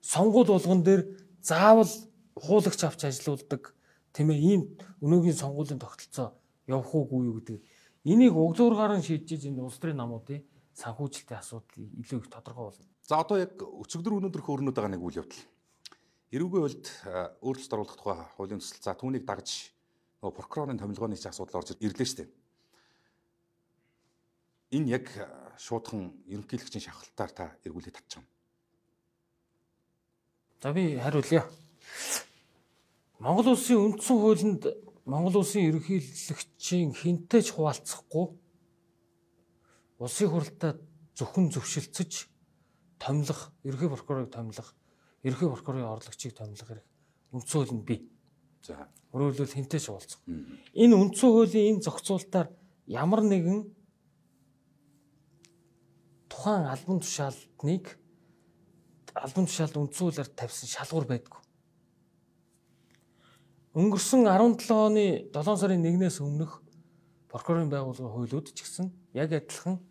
Сонгуул болгон дээр заавал хуулагч авч ажилуулдаг тийм ээ ийм өнөөгийн сонгуулийн тогтолцоо явах уугүй юу гэдэг. Энийг углуургаар нь шийдэж энэ улс төрийн намуудын санхүүжилтийн асуудал илүү их тодорхой болно. За одоо яг өчигдөр өнөөдөр хөөрнөд байгаа нэг үйл явдал. Эрүүгийн хуульд өөрчлөлт оруулах тухай хуулийн төсөл. За түүнийг дагж нөгөө прокурорын томилгооны ч асуудал орж ирлээ шүү дээ. Энэ яг шуудхан ерөнхийлөгчийн шавхалтаар та эргүүлээд татчих юм. За би хариулъя. Монгол улсын үндсэн хуулинд Монгол улсын ерөнхийлөгчийн хинтэй ч хуваалцахгүй улсын хурлаа зөвхөн зөвшөлдсөж томилох, ерөнхий прокурорыг томилох, ерөнхий прокурорын орлогчийг томилох хэрэг үндсэн хуулинд бий. За өөрөөр хэлбэл хинтэй ч уулзах. Энэ үндсэн хуулийн энэ зохицуултаар ямар нэгэн тухайн албан тушаалныг албан тушаалд үндсэн хуулиар тавьсан шалгуур байдгүй. Өнгөрсөн арван долоо оны долоон сарын нэгнээс өмнөх прокурорын байгууллагын хуулиуд ч гэсэн яг адилхан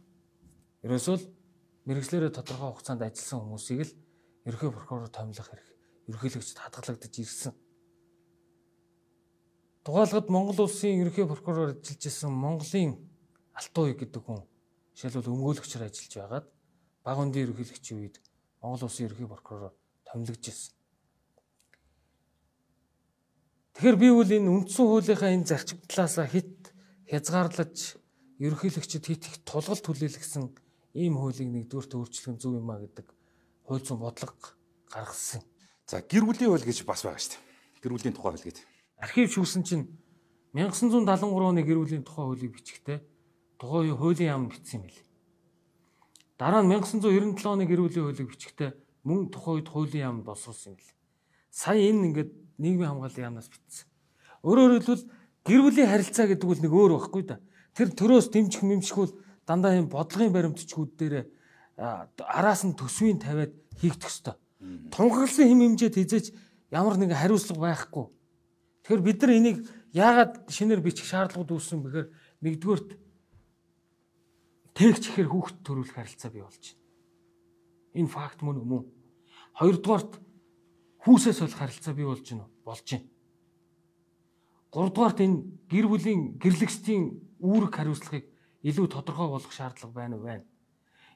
ерөөсөө л мэргэжлэрээ тодорхой хугацаанд ажилласан хүмүүсийг л ерөнхий прокурор томилох хэрэг ерөнхийлөгчд хадгалагдаж ирсэн. Дугаалгад Монгол улсын ерөнхий прокурор ажиллаж исэн Монголын Алтан уян гэдэг хүн жишээлбэл өмгөөлөгчөөр ажиллаж байгаад баг үндийн ерөнхийлөгчийн үед Монгол улсын ерөнхий прокурор томилогдож ирсэн. Тэгэхээр би бол энэ үндсэн хуулийнхаа энэ зарчим талаасаа хит хязгаарлаж ерөнхийлөгчд хит их тулгалт хүлээлгэсэн ийм хуулийг нэгдүгээрт өөрчлөх нь зөв юм а гэдэг хууль зүйн бодлого гаргасан. За гэр бүлийн хууль гэж бас байгаа шүү дээ. Гэр бүлийн тухай хууль гэдэг. Архив шүүсэн чинь 천구 седемдесет три оны гэр бүлийн тухай хуулийг бичихтэй тухайн үеийн хуулийн яам бичсэн юм билээ. Дараа нь 천구 девяносто seven оны гэр бүлийн хуулийг бичихтэй мөн тухайн үед хуулийн яам боловсруулсан юм билээ. Сая энэ ингээд нийгмийн хамгааллын яамнаас бичсэн. Өөрөөр хэлбэл гэр бүлийн харилцаа гэдэг бол нэг өөр байхгүй да. Тэр төрөөс дэмжих мэмшгүүл дандаа юм бодлогын баримтчгүүд дээр араас нь төсвийн тавиад хийгдэх ёстой. Тунхагласан хэм хэмжээд хизээч ямар нэгэн хариуцлага байхгүй. Тэгэхээр бид нар энийг яагаад шинээр бичих шаардлагууд үүссэн бэхээр нэгдүгээрт тээгч ихээр хүүхэд төрүүлэх харилцаа бий болж байна. Энэ факт мөн үү? Хоёрдугаарт хүүсээс болох харилцаа бий болж байна уу? Болж байна. Гуравдугаарт энэ гэр бүлийн гэрлэгчдийн үүрэг хариуцлагыг илүү тодорхой болгох шаардлага байна уу? Байна.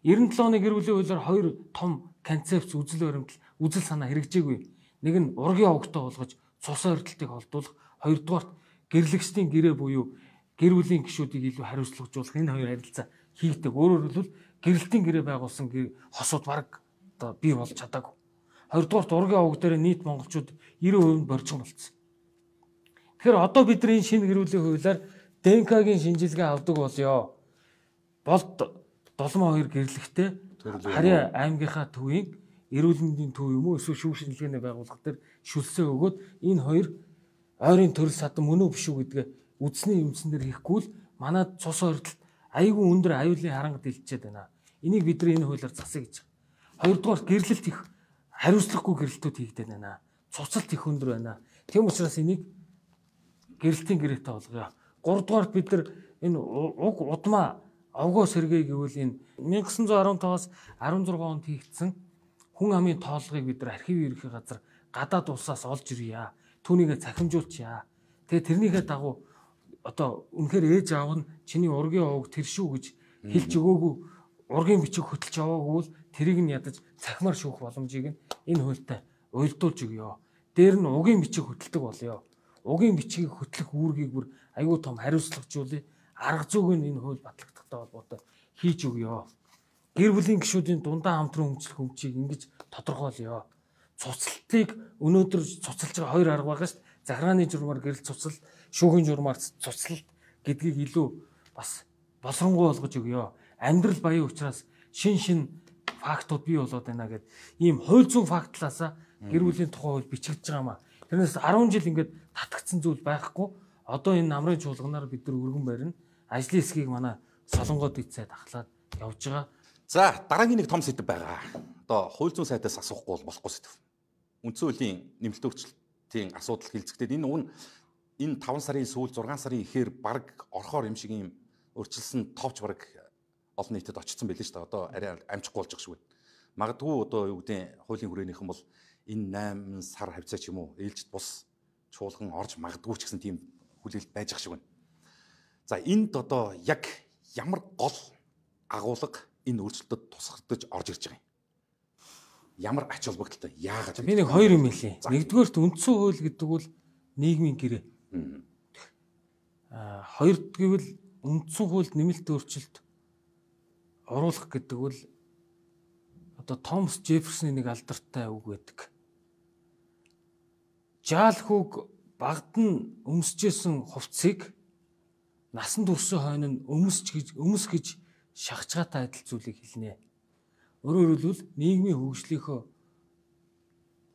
девяносто seven оны гэр бүлийн хуулиар хоёр том концепц үзэл баримтал үзэл санаа хэрэгжээгүй. Нэг нь ургийн овогтой болгож цус ойртолтыг холдуулах, хоёрдугаарт гэрлэгчдийн гэрээ буюу гэр бүлийн гишүүдийг илүү хариуцлагажуулах энэ хоёр харилцаа хийгдэг. Өөрөөр хэлбэл гэрэлтийн гэрээ байгуулсан хосууд бараг одоо бий болж чадаагүй. Хоёрдугаарт ургийн овог дээр нийт монголчууд ninety percent боржгон болцсон. Тэгэхээр одоо бид нар энэ шинэ гэр бүлийн хуулиар дэ эн ка-гийн шинжилгээ авдаг болёо. Болд долоон хоёр гэрлэгтэй харьяа аймгийнхаа төвийн эрүүл мэндийн төв юм уу эсвэл шүүх шинжилгээний байгууллага дээр шүлсээ өгөөд энэ хоёр ойрын төрөл садан мөн үү биш үү гэдгээ үдсний юмсан дээр хийхгүй л манай цус ойртолд айгүй өндөр аюулын харангад илчээд байна. Энийг бид нар энэ хуулиар засъя гэж байгаа. Хоёрдугаар гэрлэлт их хариуцлагагүй гэрлэлтүүд хийгдэж байна. Цуцалт их өндөр байна. Тийм учраас энийг гэрэлтийн гэрээтэй болгоё. Гуравдугаарт бид нар энэ уг удмаа овгоо сэргээ гэвэл энэ 천구 фifteen-аас sixteen онд хийгдсэн хүн амын тоолгыг бид нар архивын ерөнхий газар гадаад улсаас олж ирье. Түүнийгээ цахимжуулчихъя. Тэгээ тэрнийхээ дагуу одоо үнэхээр ээж аав нь чиний ургийн овог тэр шүү гэж хэлж өгөөгүй ургийн бичиг хөтөлж аваагүй бол тэрийг нь ядаж цахимаар шүүх боломжийг нь энэ хуультай уйлдуулж өгье. Дээр нь угийн бичиг хөтэлдэг болёо. Угийн бичгийг хөтлөх үүргийг бүр аюу том хариуцлагажуулъя. Арга зүйг нь энэ хууль батлагдахтай холбоотой хийж өгье. Гэр бүлийн гишүүдийн дундаа хамтран хөгжлөх өмчийг ингэж тодорхойлъё. Цуцлалтыг өнөөдөр цуцалж байгаа хоёр арга байгаа шүү дээ. Захиргааны журмаар гэрэл цуцал, шүүхийн журмаар цуцлалт гэдгийг илүү бас боловсронгуй болгож өгье. Амьдрал баян учраас шин шин фактууд бий болоод байна гэд ийм хууль зүйн фактлаасаа гэр бүлийн тухай хууль бичигдэж байгаа маа. Тэрнээс ten жил ингээд татгдсан зүйл байхгүй. Одоо энэ намрын чуулганаар бид нар өргөн барина. Ажлын хэсгийг манай солонгод эцээд ахлаад явж байгаа. За дараагийн нэг том сэдв байгаа. Одоо хууль зүйн сайдаас асуухгүй бол болохгүй сэдв. Үндсэн хуулийн нэмэлт өөрчлөлтийн асуудал хилцэгдээд энэ уг нь энэ five сарын сүүл six сарын ихээр баг орхоор юм шиг юм өөрчилсөн товч баг олон нийтэд очсон байлээ шүү дээ. Одоо арай амжихгүй болж байгаа шүү. Магадгүй одоо юу гэдэг хуулийн хүрээнийхэн бол энэ eight сар хавцаа ч юм уу ээлжид бус чуулган орж магадгүй ч гэсэн тийм хүлээлт байж ах шиг байна. За энд одоо яг ямар гол агуулга энэ өөрчлөлтөд тусгагдаж орж ирж байгаа юм. Ямар ач холбогдолтой яагаад би нэг хоёр юм хэлье. Нэгдүгээрт үндсэн хууль гэдэг бол нийгмийн гэрээ. Аа хоёрд гэвэл үндсэн хуульд нэмэлт өөрчлөлт оруулах гэдэг бол одоо Томас Жефферсоны нэг алдартай үг байдаг. Жаал хүүг багад нь өмсөжсэн хувцсыг насан туршийн хойно нь өмсч гэж өмс гэж шахчгаатай адил зүйлийг хэлнэ. Өөрөөр хэлбэл нийгмийн хөгжлийнхөө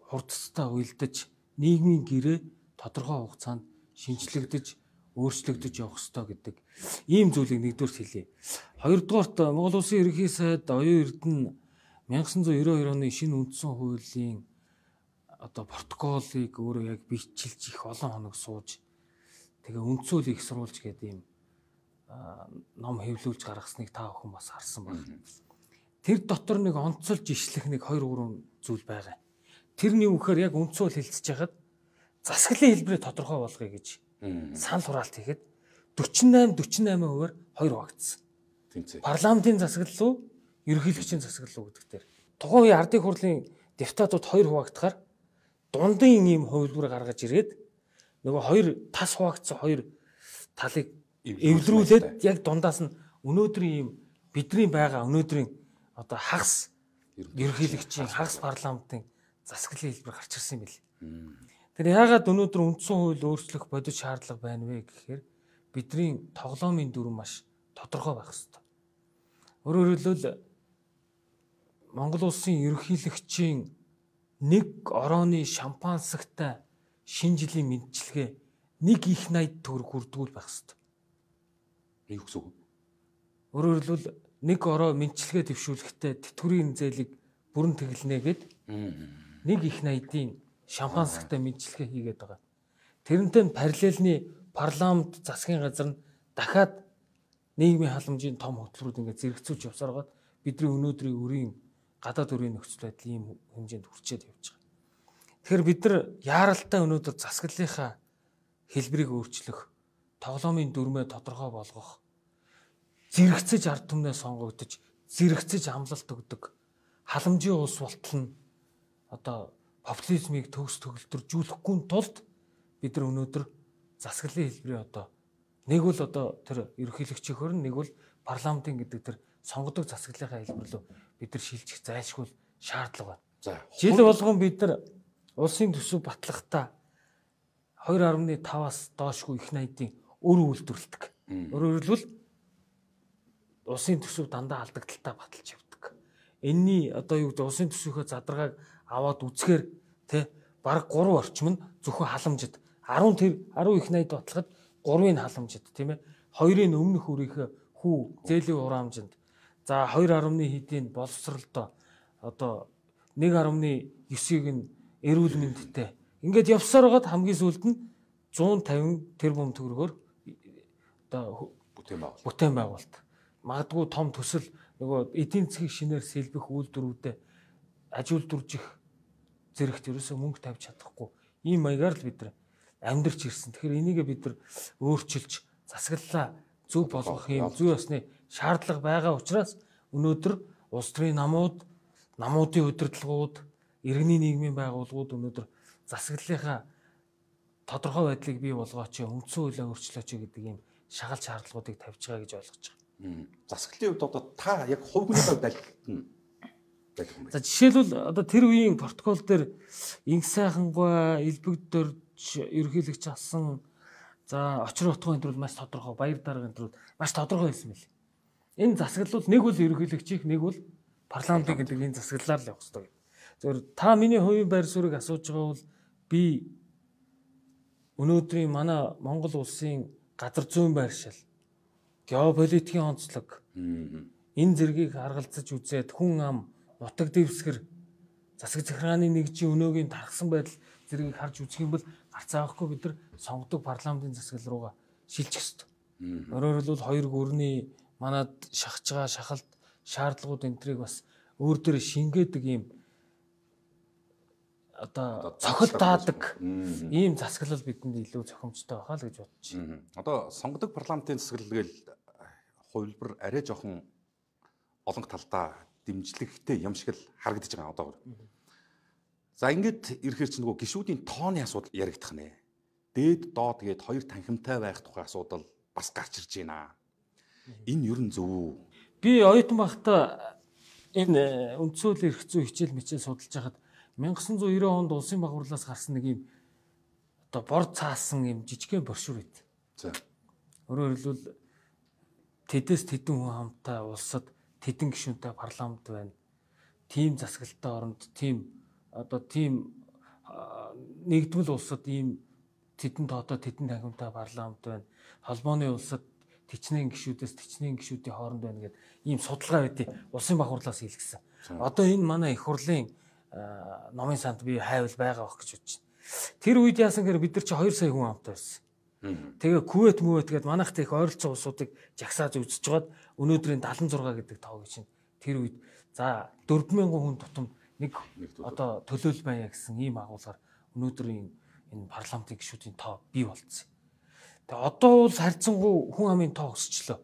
хурдцтай уялдаж нийгмийн гэрээ тодорхой хугацаанд шинжлэгдэж өөрчлөгдөж явах ёстой гэдэг ийм зүйлийг нэгдүгээр хэлье. Хоёрдугаарт Монгол Улсын ерөнхий сайд оюун эрдэнэ мянга санаа зуун девять оны шинэ үндсэн хуулийн одоо протоколыг өөрөө яг бичлж их олон хоног сууж тэгээ үндсүүл их сурвалж гэдэг ийм ном хэвлүүлж гаргасныг та бүхэн бас харсан байна. Тэр дотор нэг онцолж ишлэх нэг хоёр гурван зүйл байгаа. Тэрний үхээр яг үндсүүл хэлцэж хагаад засаглалын хэлбэрээ тодорхой болгоё гэж санал хураалт хийхэд forty-eight forty-eight хувиар хоёр хуваагдсан. Тэмцээ. Парламентын засаглал уу, ерөнхийлөгчийн засаглал уу гэдэг дээр. Тухайн үеийн ардын хурлын депутатууд хоёр хуваагдахаар дундын ийм хувилбар гаргаж ирээд нөгөө хоёр тас хуваагдсан хоёр талыг эвлэрүүлээд яг дундаас нь өнөөдрийн ийм бидний байгаа өнөөдрийн одоо хагас ерөнхийлөгчийн хагас парламентын засаглалын хэлбэр гарч ирсэн юм билээ. Тэр яагаад өнөөдөр үндсэн хууль өөрчлөх бодит шаардлага байна вэ гэхээр бидний тоглоомын дүрм маш тодорхой байх хэрэгтэй. Өөрөөр хэлбэл Монгол улсын ерөнхийлөгчийн нэг орооны шампансагтай шинэ жилийн мэндчилгээ нэг их найд төгрөг хүрдгүүл байх хэрэгтэй. Юу гэсэн үг? Өөрөөр хэлбэл нэг ороо мэндчилгээ төвшүүлэхдээ тэтгэврийн зээлийг бүрэн тэглэнэ гэд нэг их найдын шампансагтай мэндчилгээ хийгээд байгаа. Тэрнтэй параллельны парламент засгийн газар нь дахиад нийгмийн халамжийн том хөтөлбөрүүд ингээд зэрэгцүүлж явсаар байгаа. Бидний өнөөдрийн өрийн гадаад өрийн нөхцөл байдал ийм хэмжээнд хүрчээд явж байгаа. Тэгэхээр бид нар яаралтай өнөөдөр засаглалынхаа хэлбэрийг өөрчлөх, тоглоомын дүрмээ тодорхой болгох, зэрэгцэж ард түмнээ сонгогдож, зэрэгцэж амлалт өгдөг халамжийн улс болтол нь одоо популизмыг төгс төгөлдржүүлэхгүй тулд бид нар өнөөдөр засаглалын хэлбэрийн одоо нэг бол одоо тэр ерөнхийлөгчийн хөрн, нэг бол парламентын гэдэг тэр сонгодог засаглалынхаа хэлбэрлөө бид нар шилжих зайлшгүй шаардлага байна. За жил болгон бид нар улсын төсөв батлахдаа two point five-аас доошгүй их найдын өр үйлдвэрлэдэг. Өөрөөр хэлбэл улсын төсөв дандаа алдагдaltaа баталж явдаг. Энэний одоо юу гэдэг улсын төсвийнхөө задаргааг аваад үзэхээр тэ бараг three орчим нь зөвхөн халамжид ten тэр ten их найд батлахад three-ын халамжид тийм ээ two-ын өмнөх үрийнхээ хүү зээлийн хураамжинд за two хэдийн боловсролдоо одоо one point nine-ыг нь эрүүл мэндтэй ингээд явсаар байгаад хамгийн сүүлд нь one fifty тэрбум төгрөгөөр одоо бүтээн байгуулалт бүтээн байгуулалт магадгүй том төсөл нөгөө эдийн засгийн шинээр сэлбэх үйлдвэрүүдэд аж үйлдвэржих зэрэгт ерөөсөө мөнгө тавьж чадахгүй ийм маягаар л бид нар амьдарч ирсэн. Тэгэхээр энийг бид нар өөрчилж засаглалаа зөв болгох юм зүй ёсны шаардлага байгаа учраас өнөөдөр улс төрийн намууд, намуудын удирдлагууд, иргэний нийгмийн байгууллагууд өнөөдөр засаглалынхаа тодорхой байдлыг бий болгооч, үндсэн хуулиа өөрчлөөч гэдэг ийм шагал шаардлагуудыг тавьж байгаа гэж ойлгож байгаа. Засаглалын хувьд одоо та яг хувь хүний хувьд аль нь байдаг юм бэ? За жишээлбэл одоо тэр үеийн протокол дээр инх сайхангаа, элбэгдөрж ерөнхийлөгч асан за очир утгын төрөл маш тодорхой, баяр даргын төрөл маш тодорхой байсан мэл. Энэ засаглал нэг бол ерөнхийлөгчийн, нэг бол парламентын гэдэг энэ засаглалаар л явах хэрэгтэй. Зөвхөн та миний хувийн байр суурийг асууж байгаа бол би өнөөдрийн манай Монгол улсын газар зүйн байршил, геополитикийн онцлог энэ зэргийг харгалзаж үзээд хүн ам, нутаг дэвсгэр, засаг захиргааны нэгжийн өнөөгийн тархсан байдал зэргийг харж үзэх юм бол гарцаахгүй бид нар сонгодог парламентын засаглал руугаа шилжих ёстой. Өөрөөр хэлбэл хоёр гүрний манад шахаж байгаа шахалт шаардлагууд энтрийг бас өөр дөр шингээдэг ийм одоо цохилтаадаг ийм засаглал бидэнд илүү зохимжтой байхаа л гэж бодож байна. Одоо сонгодог парламентын засаглал гээл хувилбар арай жоохон олон талдаа дэмжлэгтэй юм шиг л харагдаж байгаа одоогор. За ингээд ирэхээр чи нөгөө гишүүдийн тооны асуудал яригдах нэ. Дээд доод гээд хоёр танхимтай байх тухай асуудал бас гарч ирж байна. Энэ ер нь зөв үү? Би оюутан байхдаа энэ үндсэн хуулийн эрх зүй хичээл мичээл судалж байхад nineteen ninety онд улсын баг хурлаас гарсан нэг юм одоо бор цаасан юм жижигхэн брошюр байт. За. Өөрөөр хэлбэл тэдэс тэдэн хүн хамтаа улсад тэдэн гишүүнтэй парламент байна. Тим засаглалтай оронд тим одоо тим нэгдмэл улсад ийм тэдэн тоодоо тэдэн тахимтай парламент байна. Холбооны улсад тэчнээн гишүүдээс тэчнээн гишүүдийн хооронд байна гэдэг ийм судалгаа байдгийг улсын баг хурлаас хийлгэсэн. Одоо энэ манай их хурлын номын санд би хайвал байгаа бох гэж бодож байна. Тэр үед яасан гэхээр бид нар чи хоёр сая хүн амтай байсан. Тэгээ Кувейт мөвэт гэдэг манайхтай их ойролцоо улсуудыг жагсааж үзэж жоод өнөөдрийн дагалан зураг гэдэг тоог чинь тэр үед за дөрвөн мянган хүн тутамд нэг одоо төлөөлөл байя гэсэн ийм агуулгаар өнөөдрийн энэ парламентын гишүүдийн тоо бий болцсон. Тэгээ одоо бол харьцангуй хүн амын тоо өсчлөө.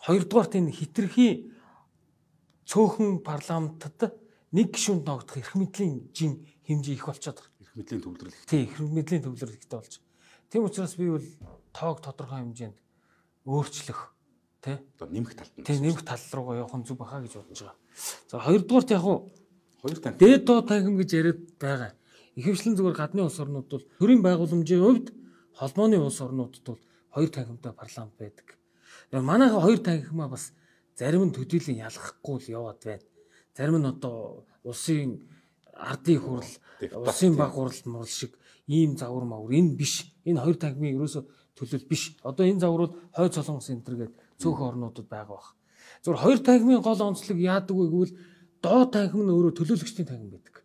Хоёрдугаарт энэ хитрхи цөөхөн парламентад нэг гишүүнд ногдох эрх мэдлийн жин хэмжээ их болчиход байна. Эрх мэдлийн төвлөрөл. Тийм, эрх мэдлийн төвлөрөл ихтэй болж. Тийм учраас би бол тоог тодорхой хэмжээнд өөрчлөх тий одоо нэмэх талд нь тий нэмэх тал руугаа явах нь зүг баха гэж бодож байгаа. За хоёрдугаарт яг уу хоёр танхим дээд доо танхим гэж яриад байгаа. Ихэвчлэн зүгээр гадны улс орнууд бол төрийн байгууламжийн хувьд холбооны улс орнуудад бол хоёр танхимтай парламент байдаг. Манайха хоёр танхимаа бас зарим нь төдийлөн ялгахгүй л яваад байна. Зарим нь одоо улсын ардын хурл, улсын баг хурл мурал шиг ийм завар мавар энэ биш. Энэ хоёр танхимын ерөөсө төлөөл биш. Одоо энэ завар бол хойд солонгос энэ төр гээд цөөхөн орнуудад байгаа бах. Зүгээр хоёр танхимын гол онцлог яадаг вэ гэвэл доод танхим нь өөрөө төлөөлөгчдийн танхим байдаг.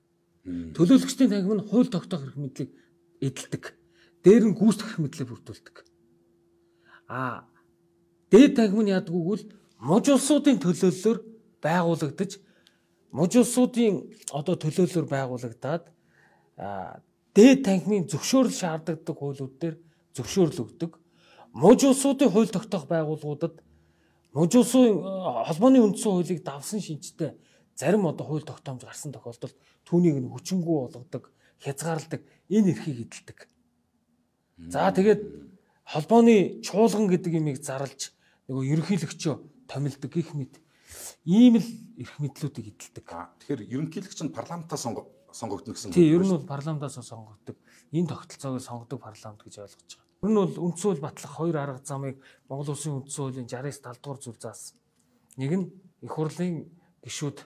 Төлөөлөгчдийн танхим нь хууль тогтоох эрх мэдлийг эдэлдэг. Дээр нь гүйцэтгэх эрх мэдлийг бүрдүүлдэг. Аа дээд танхим нь яадаг вэ гэвэл муж улсуудын төлөөллөөр байгуулагдаж муж улсуудын одоо төлөөллөөр байгуулагдаад дээд танхимын зөвшөөрөл шаарддаг хуулиуд дээр зөвшөөрөл өгдөг. Муж улсуудын хууль тогтоох байгууллагуудад муж улсын холбооны үндсэн хуулийг давсан шинжтэй зарим одоо хууль тогтоомж гарсан тохиолдолд түүнийг нь хүчингү болгодог, хязгаарладаг энэ эрхийг эдэлдэг. За тэгээд холбооны чуулган гэдэг имийг зарлж нөгөө ерөнхийлөгчөө томилдог гэх мэт ийм л эрх мэдлүүдийг эдэлдэг. Тэгэхээр ерөнхийлөгч нь парламентаас сонгогдно гэсэн. Тийм, ер нь бол парламентаас сонгогддог. Энэ тогтолцоог сонгодог парламент гэж ойлгож байгаа. Ер нь бол үндсэн хууль батлах хоёр арга замыг Монгол Улсын үндсэн хуулийн шестдесят талд дугаар зүйл заасан. Нэг нь их хурлын гишүүд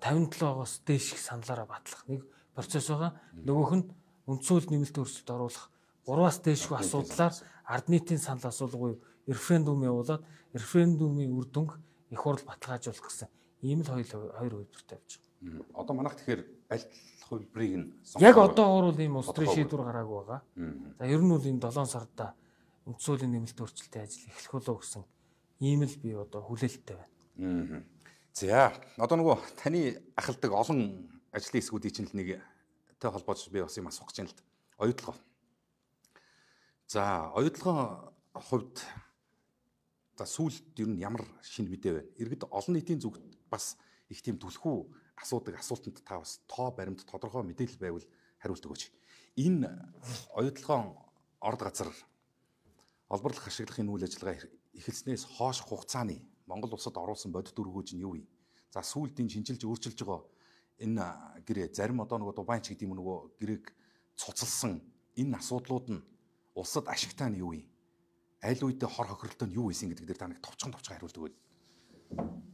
тавин долоогоос дээш их саналаараа батлах нэг процесс байгаа. Нөгөөх нь үндсэн хууль нэмэлт өөрчлөлт оруулах гураваас дээшгүй асуудлаар ард нийтийн санал асуулгыг референдум явуулаад референдумын үр дүнг их хурл баталгаажуулах гэсэн ийм л хоёр хоёр хувьдтай явж байгаа. Одоо манайх тэгэхээр аль хувьбарыг нь яг одоо бол ийм улс төрийн шийдвэр гараагүй байгаа. За ер нь бол энэ долоон сарда үндсэн хуулийн нэмэлт өөрчлөлтийн ажил эхлэх болов гэсэн ийм л би одоо хүлээлттэй байна. За одоо нөгөө таны ахалдаг олон ажлын хэсгүүдийн чинь л нэг тэй холбоож би бас юм асуух гэж байна л да. Оюутлогоо. За оюутлогоо хувьд за сүүлд ер нь ямар шинэ мэдээ байна? Иргэд олон нийтийн зүгт бас их тийм түлхүү асуудаг асуултанд та бас тоо баримт тодорхой мэдээлэл байвал хариулт өгөөч. Энэ оюутлогоо орд газар олборлох ашиглахын үйл ажиллагаа эхэлснээс хойш хугацааны Монгол улсад оруулсан бодит өргөөж нь юу вэ? За сүүлд энэ шинжилж өөрчилж байгаа энэ гэрээ зарим одоо нөгөө Дубайч гэдэг юм нөгөө гэрээг цуцалсан энэ асуудлууд нь улсад ашигтай нь юу вэ? Аль үедээ хор хохиролтой нь юу байсан гэдэг дээр та нэг товчхон товчхон хариулт өгөөд.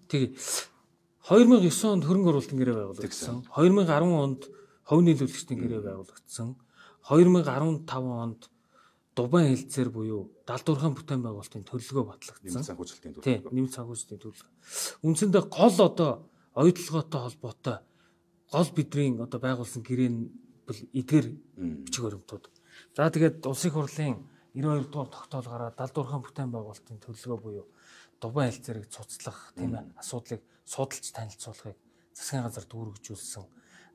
Тэгээ хоёр мянга девять онд хөрөнгө оруулалтын гэрээ байгуулагдсан. хоёр мянга арван онд хувь нийлүүлэгчдийн гэрээ байгуулагдсан. хоёр мянга арван таван онд Дубай хэлцээр буюу далдуурхан бүтээн байгуулалтын төлөлгөө батлагдсан. Нэмэлт санхүүжилтийн төлөлгөө. Тийм, нэмэлт санхүүжилтийн төлөлгөө. Үндсэндээ гол одоо оюутлогоотой холбоотой гол бидний одоо байгуулсан гэрээ нь эдгээр бичиг баримтууд. За тэгээд улсын хурлын девяносто хоёр дугаар тогтоолгаараа далдуурхан бүтээн байгуулалтын төлөлгөө буюу Дубай хэлцээрийг цуцлах тийм ээ асуудлыг судалж танилцуулахыг засгийн газар дүүргэжүүлсэн.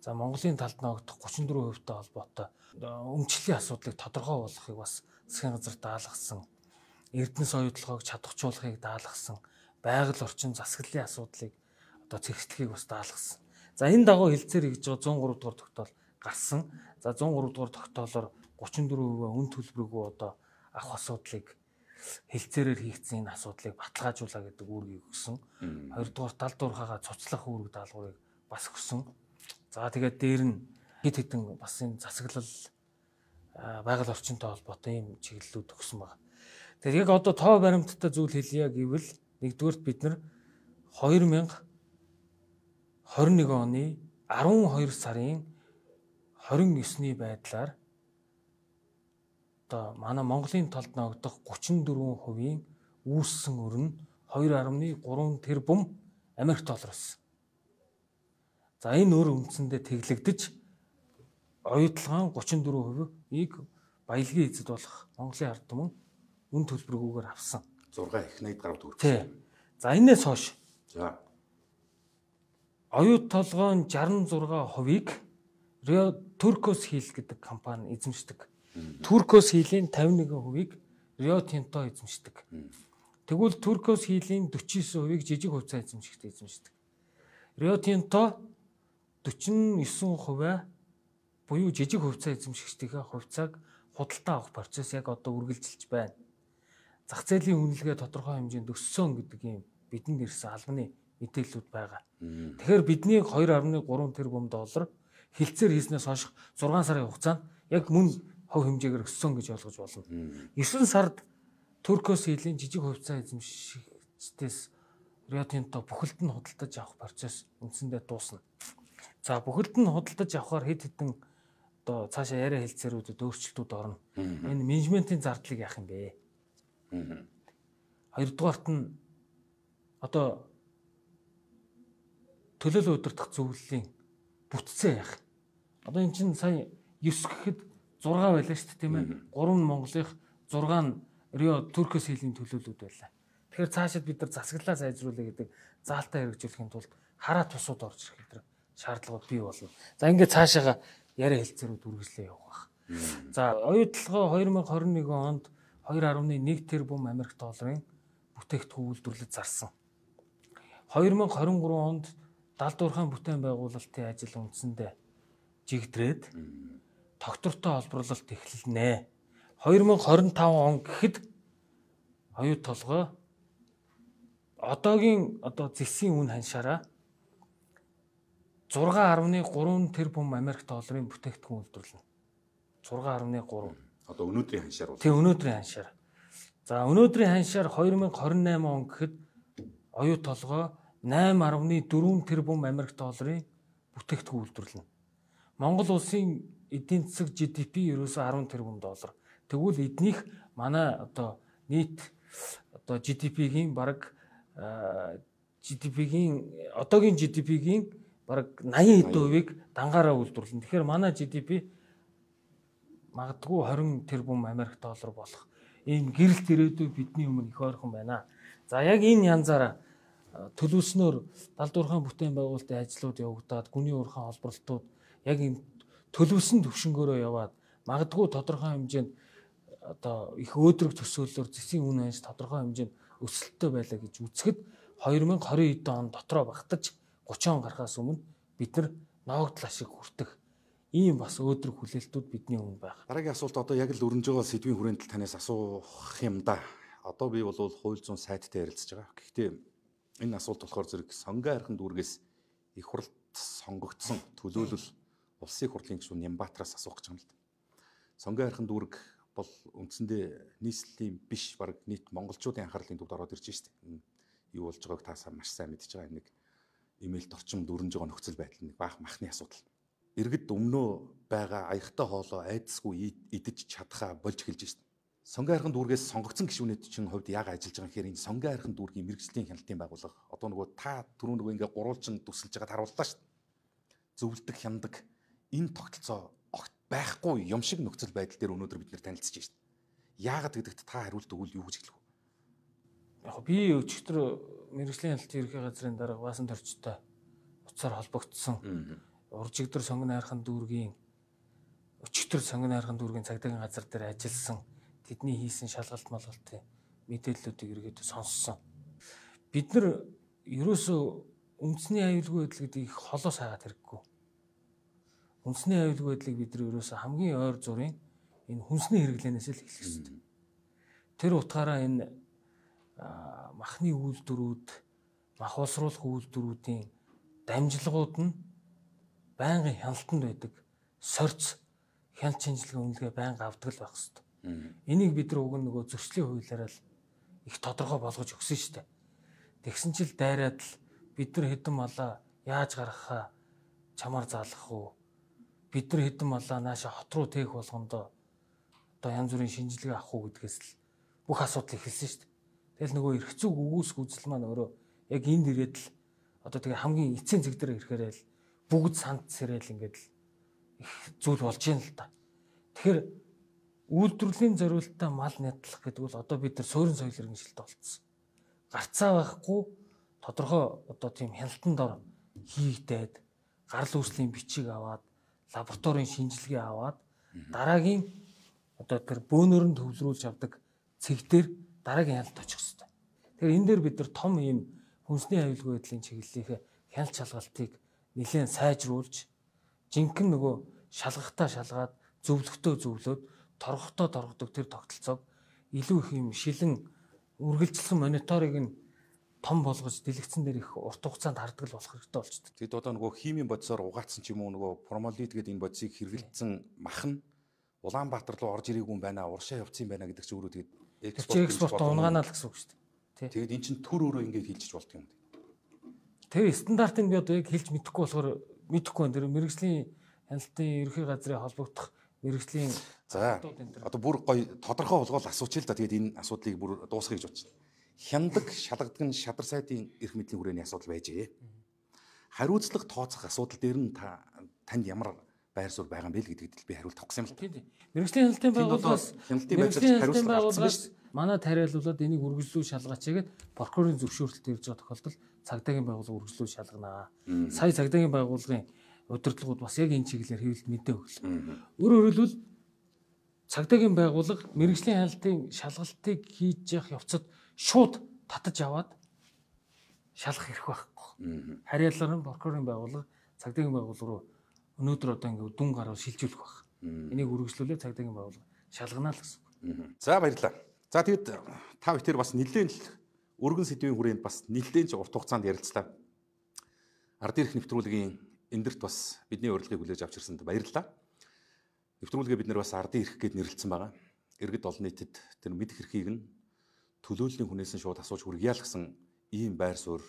За Монголын талд ногдох гучин дөрвөн хувьтай холбоотой өмчлөлийн асуудлыг тодорхой болгохыг бас засгийн газар даалгасан. Эрдэнэс оюутлогоог чадварчуулахыг даалгасан. Байгаль орчин засаглалын асуудлыг одоо цэгцлэхийг бас даалгасан. За энэ дагуу хэлцээр хийж байгаа зуун гурав дугаар тогтоол гарсан. За зуун гурав дугаар тогтоолоор гучин дөрвөн хувийн үн төлбөрөөгөө одоо авах асуудлыг хэлцээрээр хийгдсэн энэ асуудлыг баталгаажуулаа гэдэг үүргийг өгсөн. Хоёрдугаар далдуурхаага цуцлах үүрэг даалгаврыг бас өгсөн. За тэгээд дээр нь хэд хэдэн бас энэ засаглал байгаль орчинтой холбоотой ийм чиглэлүүд өгсөн байна. Тэгэхээр яг одоо тоо баримттай зүйл хэлье гэвэл нэгдүгээрт бид нар хоёр мянга хорин нэг оны арван хоёр сарын хорин есний байдлаар одоо манай Монголын толд ногдох гучин дөрвөн хувийн үүссэн өр нь хоёр гаруй гурван тэрбум Америк доллар байсан. За энэ өр үндсэндээ тэглэгдэж оюутлагын гучин дөрвөн хувийг баялагын эзэд болох Монголын ард түмэн үн төлбөргүйгээр авсан. зураг их найд гаруй төгрөг. Тий. За энэс хойш. За. Оюут толгойн шестдесет и шесть хувийг Rio Turquoise Hill гэдэг компани эзэмшдэг. Turquoise Hill-ийн пятьдесят один хувийг Rio Tinto эзэмшдэг. Тэгвэл Turquoise Hill-ийн forty nine хувийг жижиг хувьцаа эзэмшигчид эзэмшдэг. Rio Tinto forty nine хувиа буюу жижиг хувьцаа эзэмшигчдийн хувьцааг худалдаа авах процесс яг одоо үргэлжилж байна. Зах зээлийн үнэлгээ тодорхой хэмжээнд өссөн гэдэг юм бидэнд ирсэн албаны мэдээллүүд байгаа. Тэгэхээр бидний two point three тэрбум доллар хилцээр хийснээс хойш six сарын хугацаанд яг мөн хувь хэмжээгээр өссөн гэж ойлгож болно. nine сард Turquoise Hill-ийн жижиг хувьцаа эзэмшигчдээс Rio Tinto бүхэлд нь худалдаж авах процесс үндсэндээ дуусна. За бүхэлд нь худалдаж авахаар хэд хэдэн одоо цаашаа яриа хэлцээрүүдэд өөрчлөлтүүд орно. Энэ менежментийн зардлыг яах юм бэ? Хоёрдугаарт нь одоо төлөөлөл удирдах зөвлөлийн бүтцээ яах. Одоо эн чинь сая nine гэхэд six байлаа шүү дээ тийм ээ. three нь Монголынх, six нь Rio Turquoise Hill-ийн төлөөлөлүүд байлаа. Тэгэхээр цаашид бид нар засаглалаа сайжруулъя гэдэг заалтаа хэрэгжүүлэхийн тулд хараа тусууд орж ирэх гэдэг шаардлагууд бий болно. За ингээд цаашаага яриа хэлцээрүүд үргэлжлээ явах. За оюутлогоо twenty twenty-one онд two point one тэрбум Америк долларын бүтээгдэхүүн үйлдвэрлэж зарсан. twenty twenty-three онд далдуурхайн бүтээн байгуулалтын ажил үндсэндээ жигдрээд тогтвортой олборлолт эхэлнэ. twenty twenty-five он гэхэд оюут толгой одоогийн одоо зэсийн үн ханшаараа six point three тэрбум Америк долларын бүтээгдэхүүн үйлдвэрлэнэ. six point three. Одоо өнөөдрийн ханшаар бол. Тэг өнөөдрийн ханшаар. За өнөөдрийн ханшаар twenty twenty-eight он гэхэд оюут толгой nine point four тэрбум Америк долларын бүтээгдэхүүн үйлдвэрлэнэ. Монгол улсын эдийн засаг G D P ерөөсөө ten тэрбум доллар. Тэгвэл эднийх манай одоо нийт одоо G D P-гийн бараг G D P-гийн одоогийн G D P-гийн бараг eighty хэдэн хувийг дангаараа үйлдвэрлэнэ. Тэгэхээр манай G D P магадгүй twenty тэрбум Америк доллар болох ийм гэрэлт ирээдүй бидний өмнө их ойрхон байна. За яг энэ янзаараа төлөвснөөр далдуурхайн бүтээн байгуулалтын ажлууд явагдаад гүний уурхайн холбогдлолтууд яг энэ төлөвсөн төвшнгөөрөө яваад магадгүй тодорхой хэмжээнд одоо их өөдрөг төсөөллөөр зэсийн үн ханш тодорхой хэмжээнд өсөлттэй байлаа гэж үзэхэд twenty twenty он дотроо багтаж thirty он гарахаас өмнө бид нар ноогдол ашиг хүртэх ийм бас өөдрөг хүлээлтүүд бидний өмнө байна. Дараагийн асуулт одоо яг л өрнөж байгаа сэдвийн хүрээнд л танаас асуух юм да. Одоо би бол хууль зүйн сайттай ярилцж байгаа. Гэхдээ энэ асуулт болохоор зэрэг сонгон архин дүүргээс их хуралд сонгогдсон төлөөлөл улсын хурлын гишүүн Нямбатраас асуух гэж байгаа юм л да. Сонгон архин дүүрэг бол үндсэндээ нийслэлийн биш баг нийт монголчуудын анхаарлын төвд ороод ирж байна. Юу болж байгааг таасаа маш сайн мэдж байгаа. Нэг имэйлд орчимд өрнөж байгаа нөхцөл байдал нэг баах махны асуудал. Иргэд өмнөө байгаа аягтай хоолоо айдасгүй идэж чадхаа болж эхэлж байна. Сонгон архин дүүргээс сонгогдсон гишүүнүүд чинь хувьд яг ажиллаж байгаа гэхээр энэ сонгон архин дүүргийн мэрэгжлийн хяналтын байгууллага одоо нөгөө та түрүү нөгөө ингээ гурвалжин төсөлж байгаад харууллаа шүү дээ. Зөвлөдөг хяндаг энэ тогтолцоо огт байхгүй юм шиг нөхцөл байдал дээр өнөөдөр бид нэр танилцж байна. Яагаад гэдэгт та хариулт өгвөл юу гэж хэлэх вэ? Яг би өчигдөр мэрэгжлийн хяналтын ерхий газрын дарга Баасан Торчтой уцаар холбогдсон. Уржигдэр сонгон архин дүүргийн өчигдөр сонгон архин дүүргийн цагдаагийн газар дээр ажилласан тэдний хийсэн шалгалт малгалтын мэдээллүүдийг эргээд сонссон. Бид нар ерөөсөө үндэсний аюулгүй байдал гэдэг их холоос хаагаад хэрэггүй. Үндэсний аюулгүй байдлыг бид нар ерөөсөө хамгийн ойр зургийн энэ хүнсний хэрэглэнээс л эхлэх ёстой. Тэр утгаараа энэ махны үйлдвэрүүд, мах боловсруулах үйлдвэрүүдийн дамжлагууд нь байнгын хяналтанд байдаг сорц хяналт шинжилгээ үнэлгээ байнга авдаг л байх ёстой. Энийг бид нар уг нөгөө зөрчлийн хуулиараа л их тодорхой болгож өгсөн шүү дээ. Тэгсэн чил дайраад л бид нар хэдэн малаа яаж гаргахаа чамаар заалгах уу? Бид нар хэдэн малаа нааша хот руу тээх болгондоо одоо одоо янз бүрийн шинжилгээ авах уу гэдгээс л бүх асуудал эхэлсэн шүү дээ. Тэгэл нөгөө эрх зүйг өгөөсөх үзэл маань өөрөө яг энд ирээд л одоо тэгээ хамгийн эцсийн зэг дээр ирэхээр л бүгд санд сэрэл ингээд л их зүйл болж юм л та. Тэгэхээр үйлдвэрлэлийн зориулалтаа мал нядлах гэдэг бол одоо бид нар суурин соёл иргэншилтэд болцсон. Гарцаа байхгүй тодорхой одоо тийм хяналтанд ор хийгдээд гарал үүслийн бичиг аваад лабораторийн шинжилгээ аваад дараагийн одоо тэр бөөнөр нь төвлөрүүлж авдаг цэг дээр дараагийн хяналт очих хэрэгтэй. Тэгэхээр энэ дээр бид нар том ийм хүнсний аюулгүй байдлын чиглэлийнхээ хяналт шалгалтыг нэлээд сайжруулж жинхэнэ нөгөө шалгахтаа шалгаад зөвлөгтөө зөвлөөд торгохтоо торгодог тэр тогтолцоог илүү их юм шилэн үргэлжлэх мониторыг нь том болгож дэлгэцэн дээр их урт хугацаанд харддаг болох хэрэгтэй болчихдог. Тэгэд одоо нөгөө химийн бодисоор угаацсан ч юм уу нөгөө формалдегид гэдэг энэ бодисыг хэрэглэсэн мах нь Улаанбаатар руу орж ирээгүй юм байна, уршаа явцсан юм байна гэдэг чинь өөрөө тэгээд экспорт унгаанаа л гэсэн үг шүү дээ. Тэгээд эн чинь төр өөрөө ингэж хилжиж болдго юм. Тэр стандартыг би одоо яг хэлж мэдэхгүй болохоор мэдэхгүй байна. Тэр мэрэгжлийн хяналтын ерхий газрын холбогдох мэрэгжлийн за одоо бүр гоё тодорхой болгоол асуучих л да. Тэгээд энэ асуудлыг бүр дуусгах гэж бодчих. Хяндаг, шалгадаг нь шадар сайдын эрх мэдлийн хүрээний асуудал байжээ. Хариуцлага тооцох асуудал дээр нь та танд ямар байр суурь байгаа юм бэ гэдэгт би хариулт авах гэсэн юм л. Тийм. Мэргэжлийн хяналтын байгууллагаас мэргэжлийн хяналтын байгууллагаас манай тариалуулаад энийг үргэлжлүү шалгаач гэдэг прокурорын зөвшөөрлөлт ирж байгаа тохиолдолд цагдаагийн байгууллага үргэлжлүү шалганаа. Сая цагдаагийн байгууллагын удирдлагууд бас яг энэ чиглэлээр хэвлэлт мэдээ өглөө. Өөрөөр хэлбэл цагдаагийн байгууллага мэргэжлийн хяналтын шалгалтыг хийж явах явцад шууд татаж аваад шалгах хэрэг байхгүй. Харьяалаар нь прокурорын байгууллага цагдаагийн байгууллага руу өнөөдөр одоо ингээд дүн гараар шилжүүлэх байх. Энийг үргэлжлүүлээ цагдаагийн байгууллага шалганаа л гэсэн. За баярлалаа. За тэгэд та бүхэн бас нэлээд л өргөн сэдвийн хүрээнд бас нэлээд ч урт хугацаанд ярилцлаа. Ард ирэх нэвтрүүлгийн эндэрт бас бидний урилгыг хүлээж авч ирсэнд баярлалаа. Нэвтрүүлгээ бид нэр бас ардын эрх гэд нэрлэлсэн байгаа. Иргэд олон нийтэд тэр мэдэх эрхийг нь төлөөллийн хүнээс нь шууд асууж хүргье л гэсэн ийм байр суурь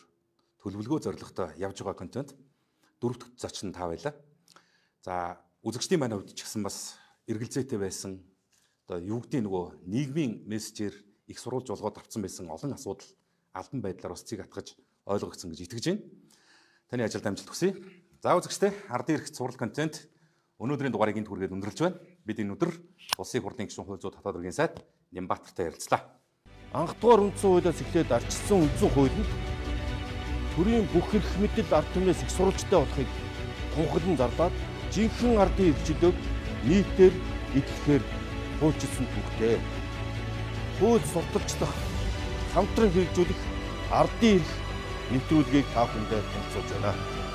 төлөвлөгөө зорилготой явж байгаа контент дөрөв дэх зочин та байлаа. За үзэгчдийн маань хувьд ч гэсэн бас эргэлзээтэй байсан одоо юу гэдэг нөгөө нийгмийн мессежээр их сурвалж болгоод авсан байсан олон асуудал албан байдлаар бас цэг атгаж ойлгогдсон гэж итгэж байна. Таны ажилд амжилт хүсье. За үзэгчдээ ардын эрх сурвалж контент өнөөдрийн дугаарыг энд хүргээд өндөрлж байна. Бид энэ өдөр Улсын хурлын гишүүн хууль зүйн татвар иргэн сайд Нямбатартай ярилцлаа. Анх дугаар үндсэн хуулиас эхлээд ардчилсан үндсэн хуулинд төрийн бүх эрх мэдэл ард түмнээс их сурвалжтай болохыг тунхаглан зарлаад жинхэнэ ардын эрхчлөөг нийтээр эдлэхээр хуульчилсан түүхтэй. Хууль сурталчлах, хамтран хэрэгжүүлэх ардын эрх нэвтрүүлгийг та бүхэндээ танилцуулж байна.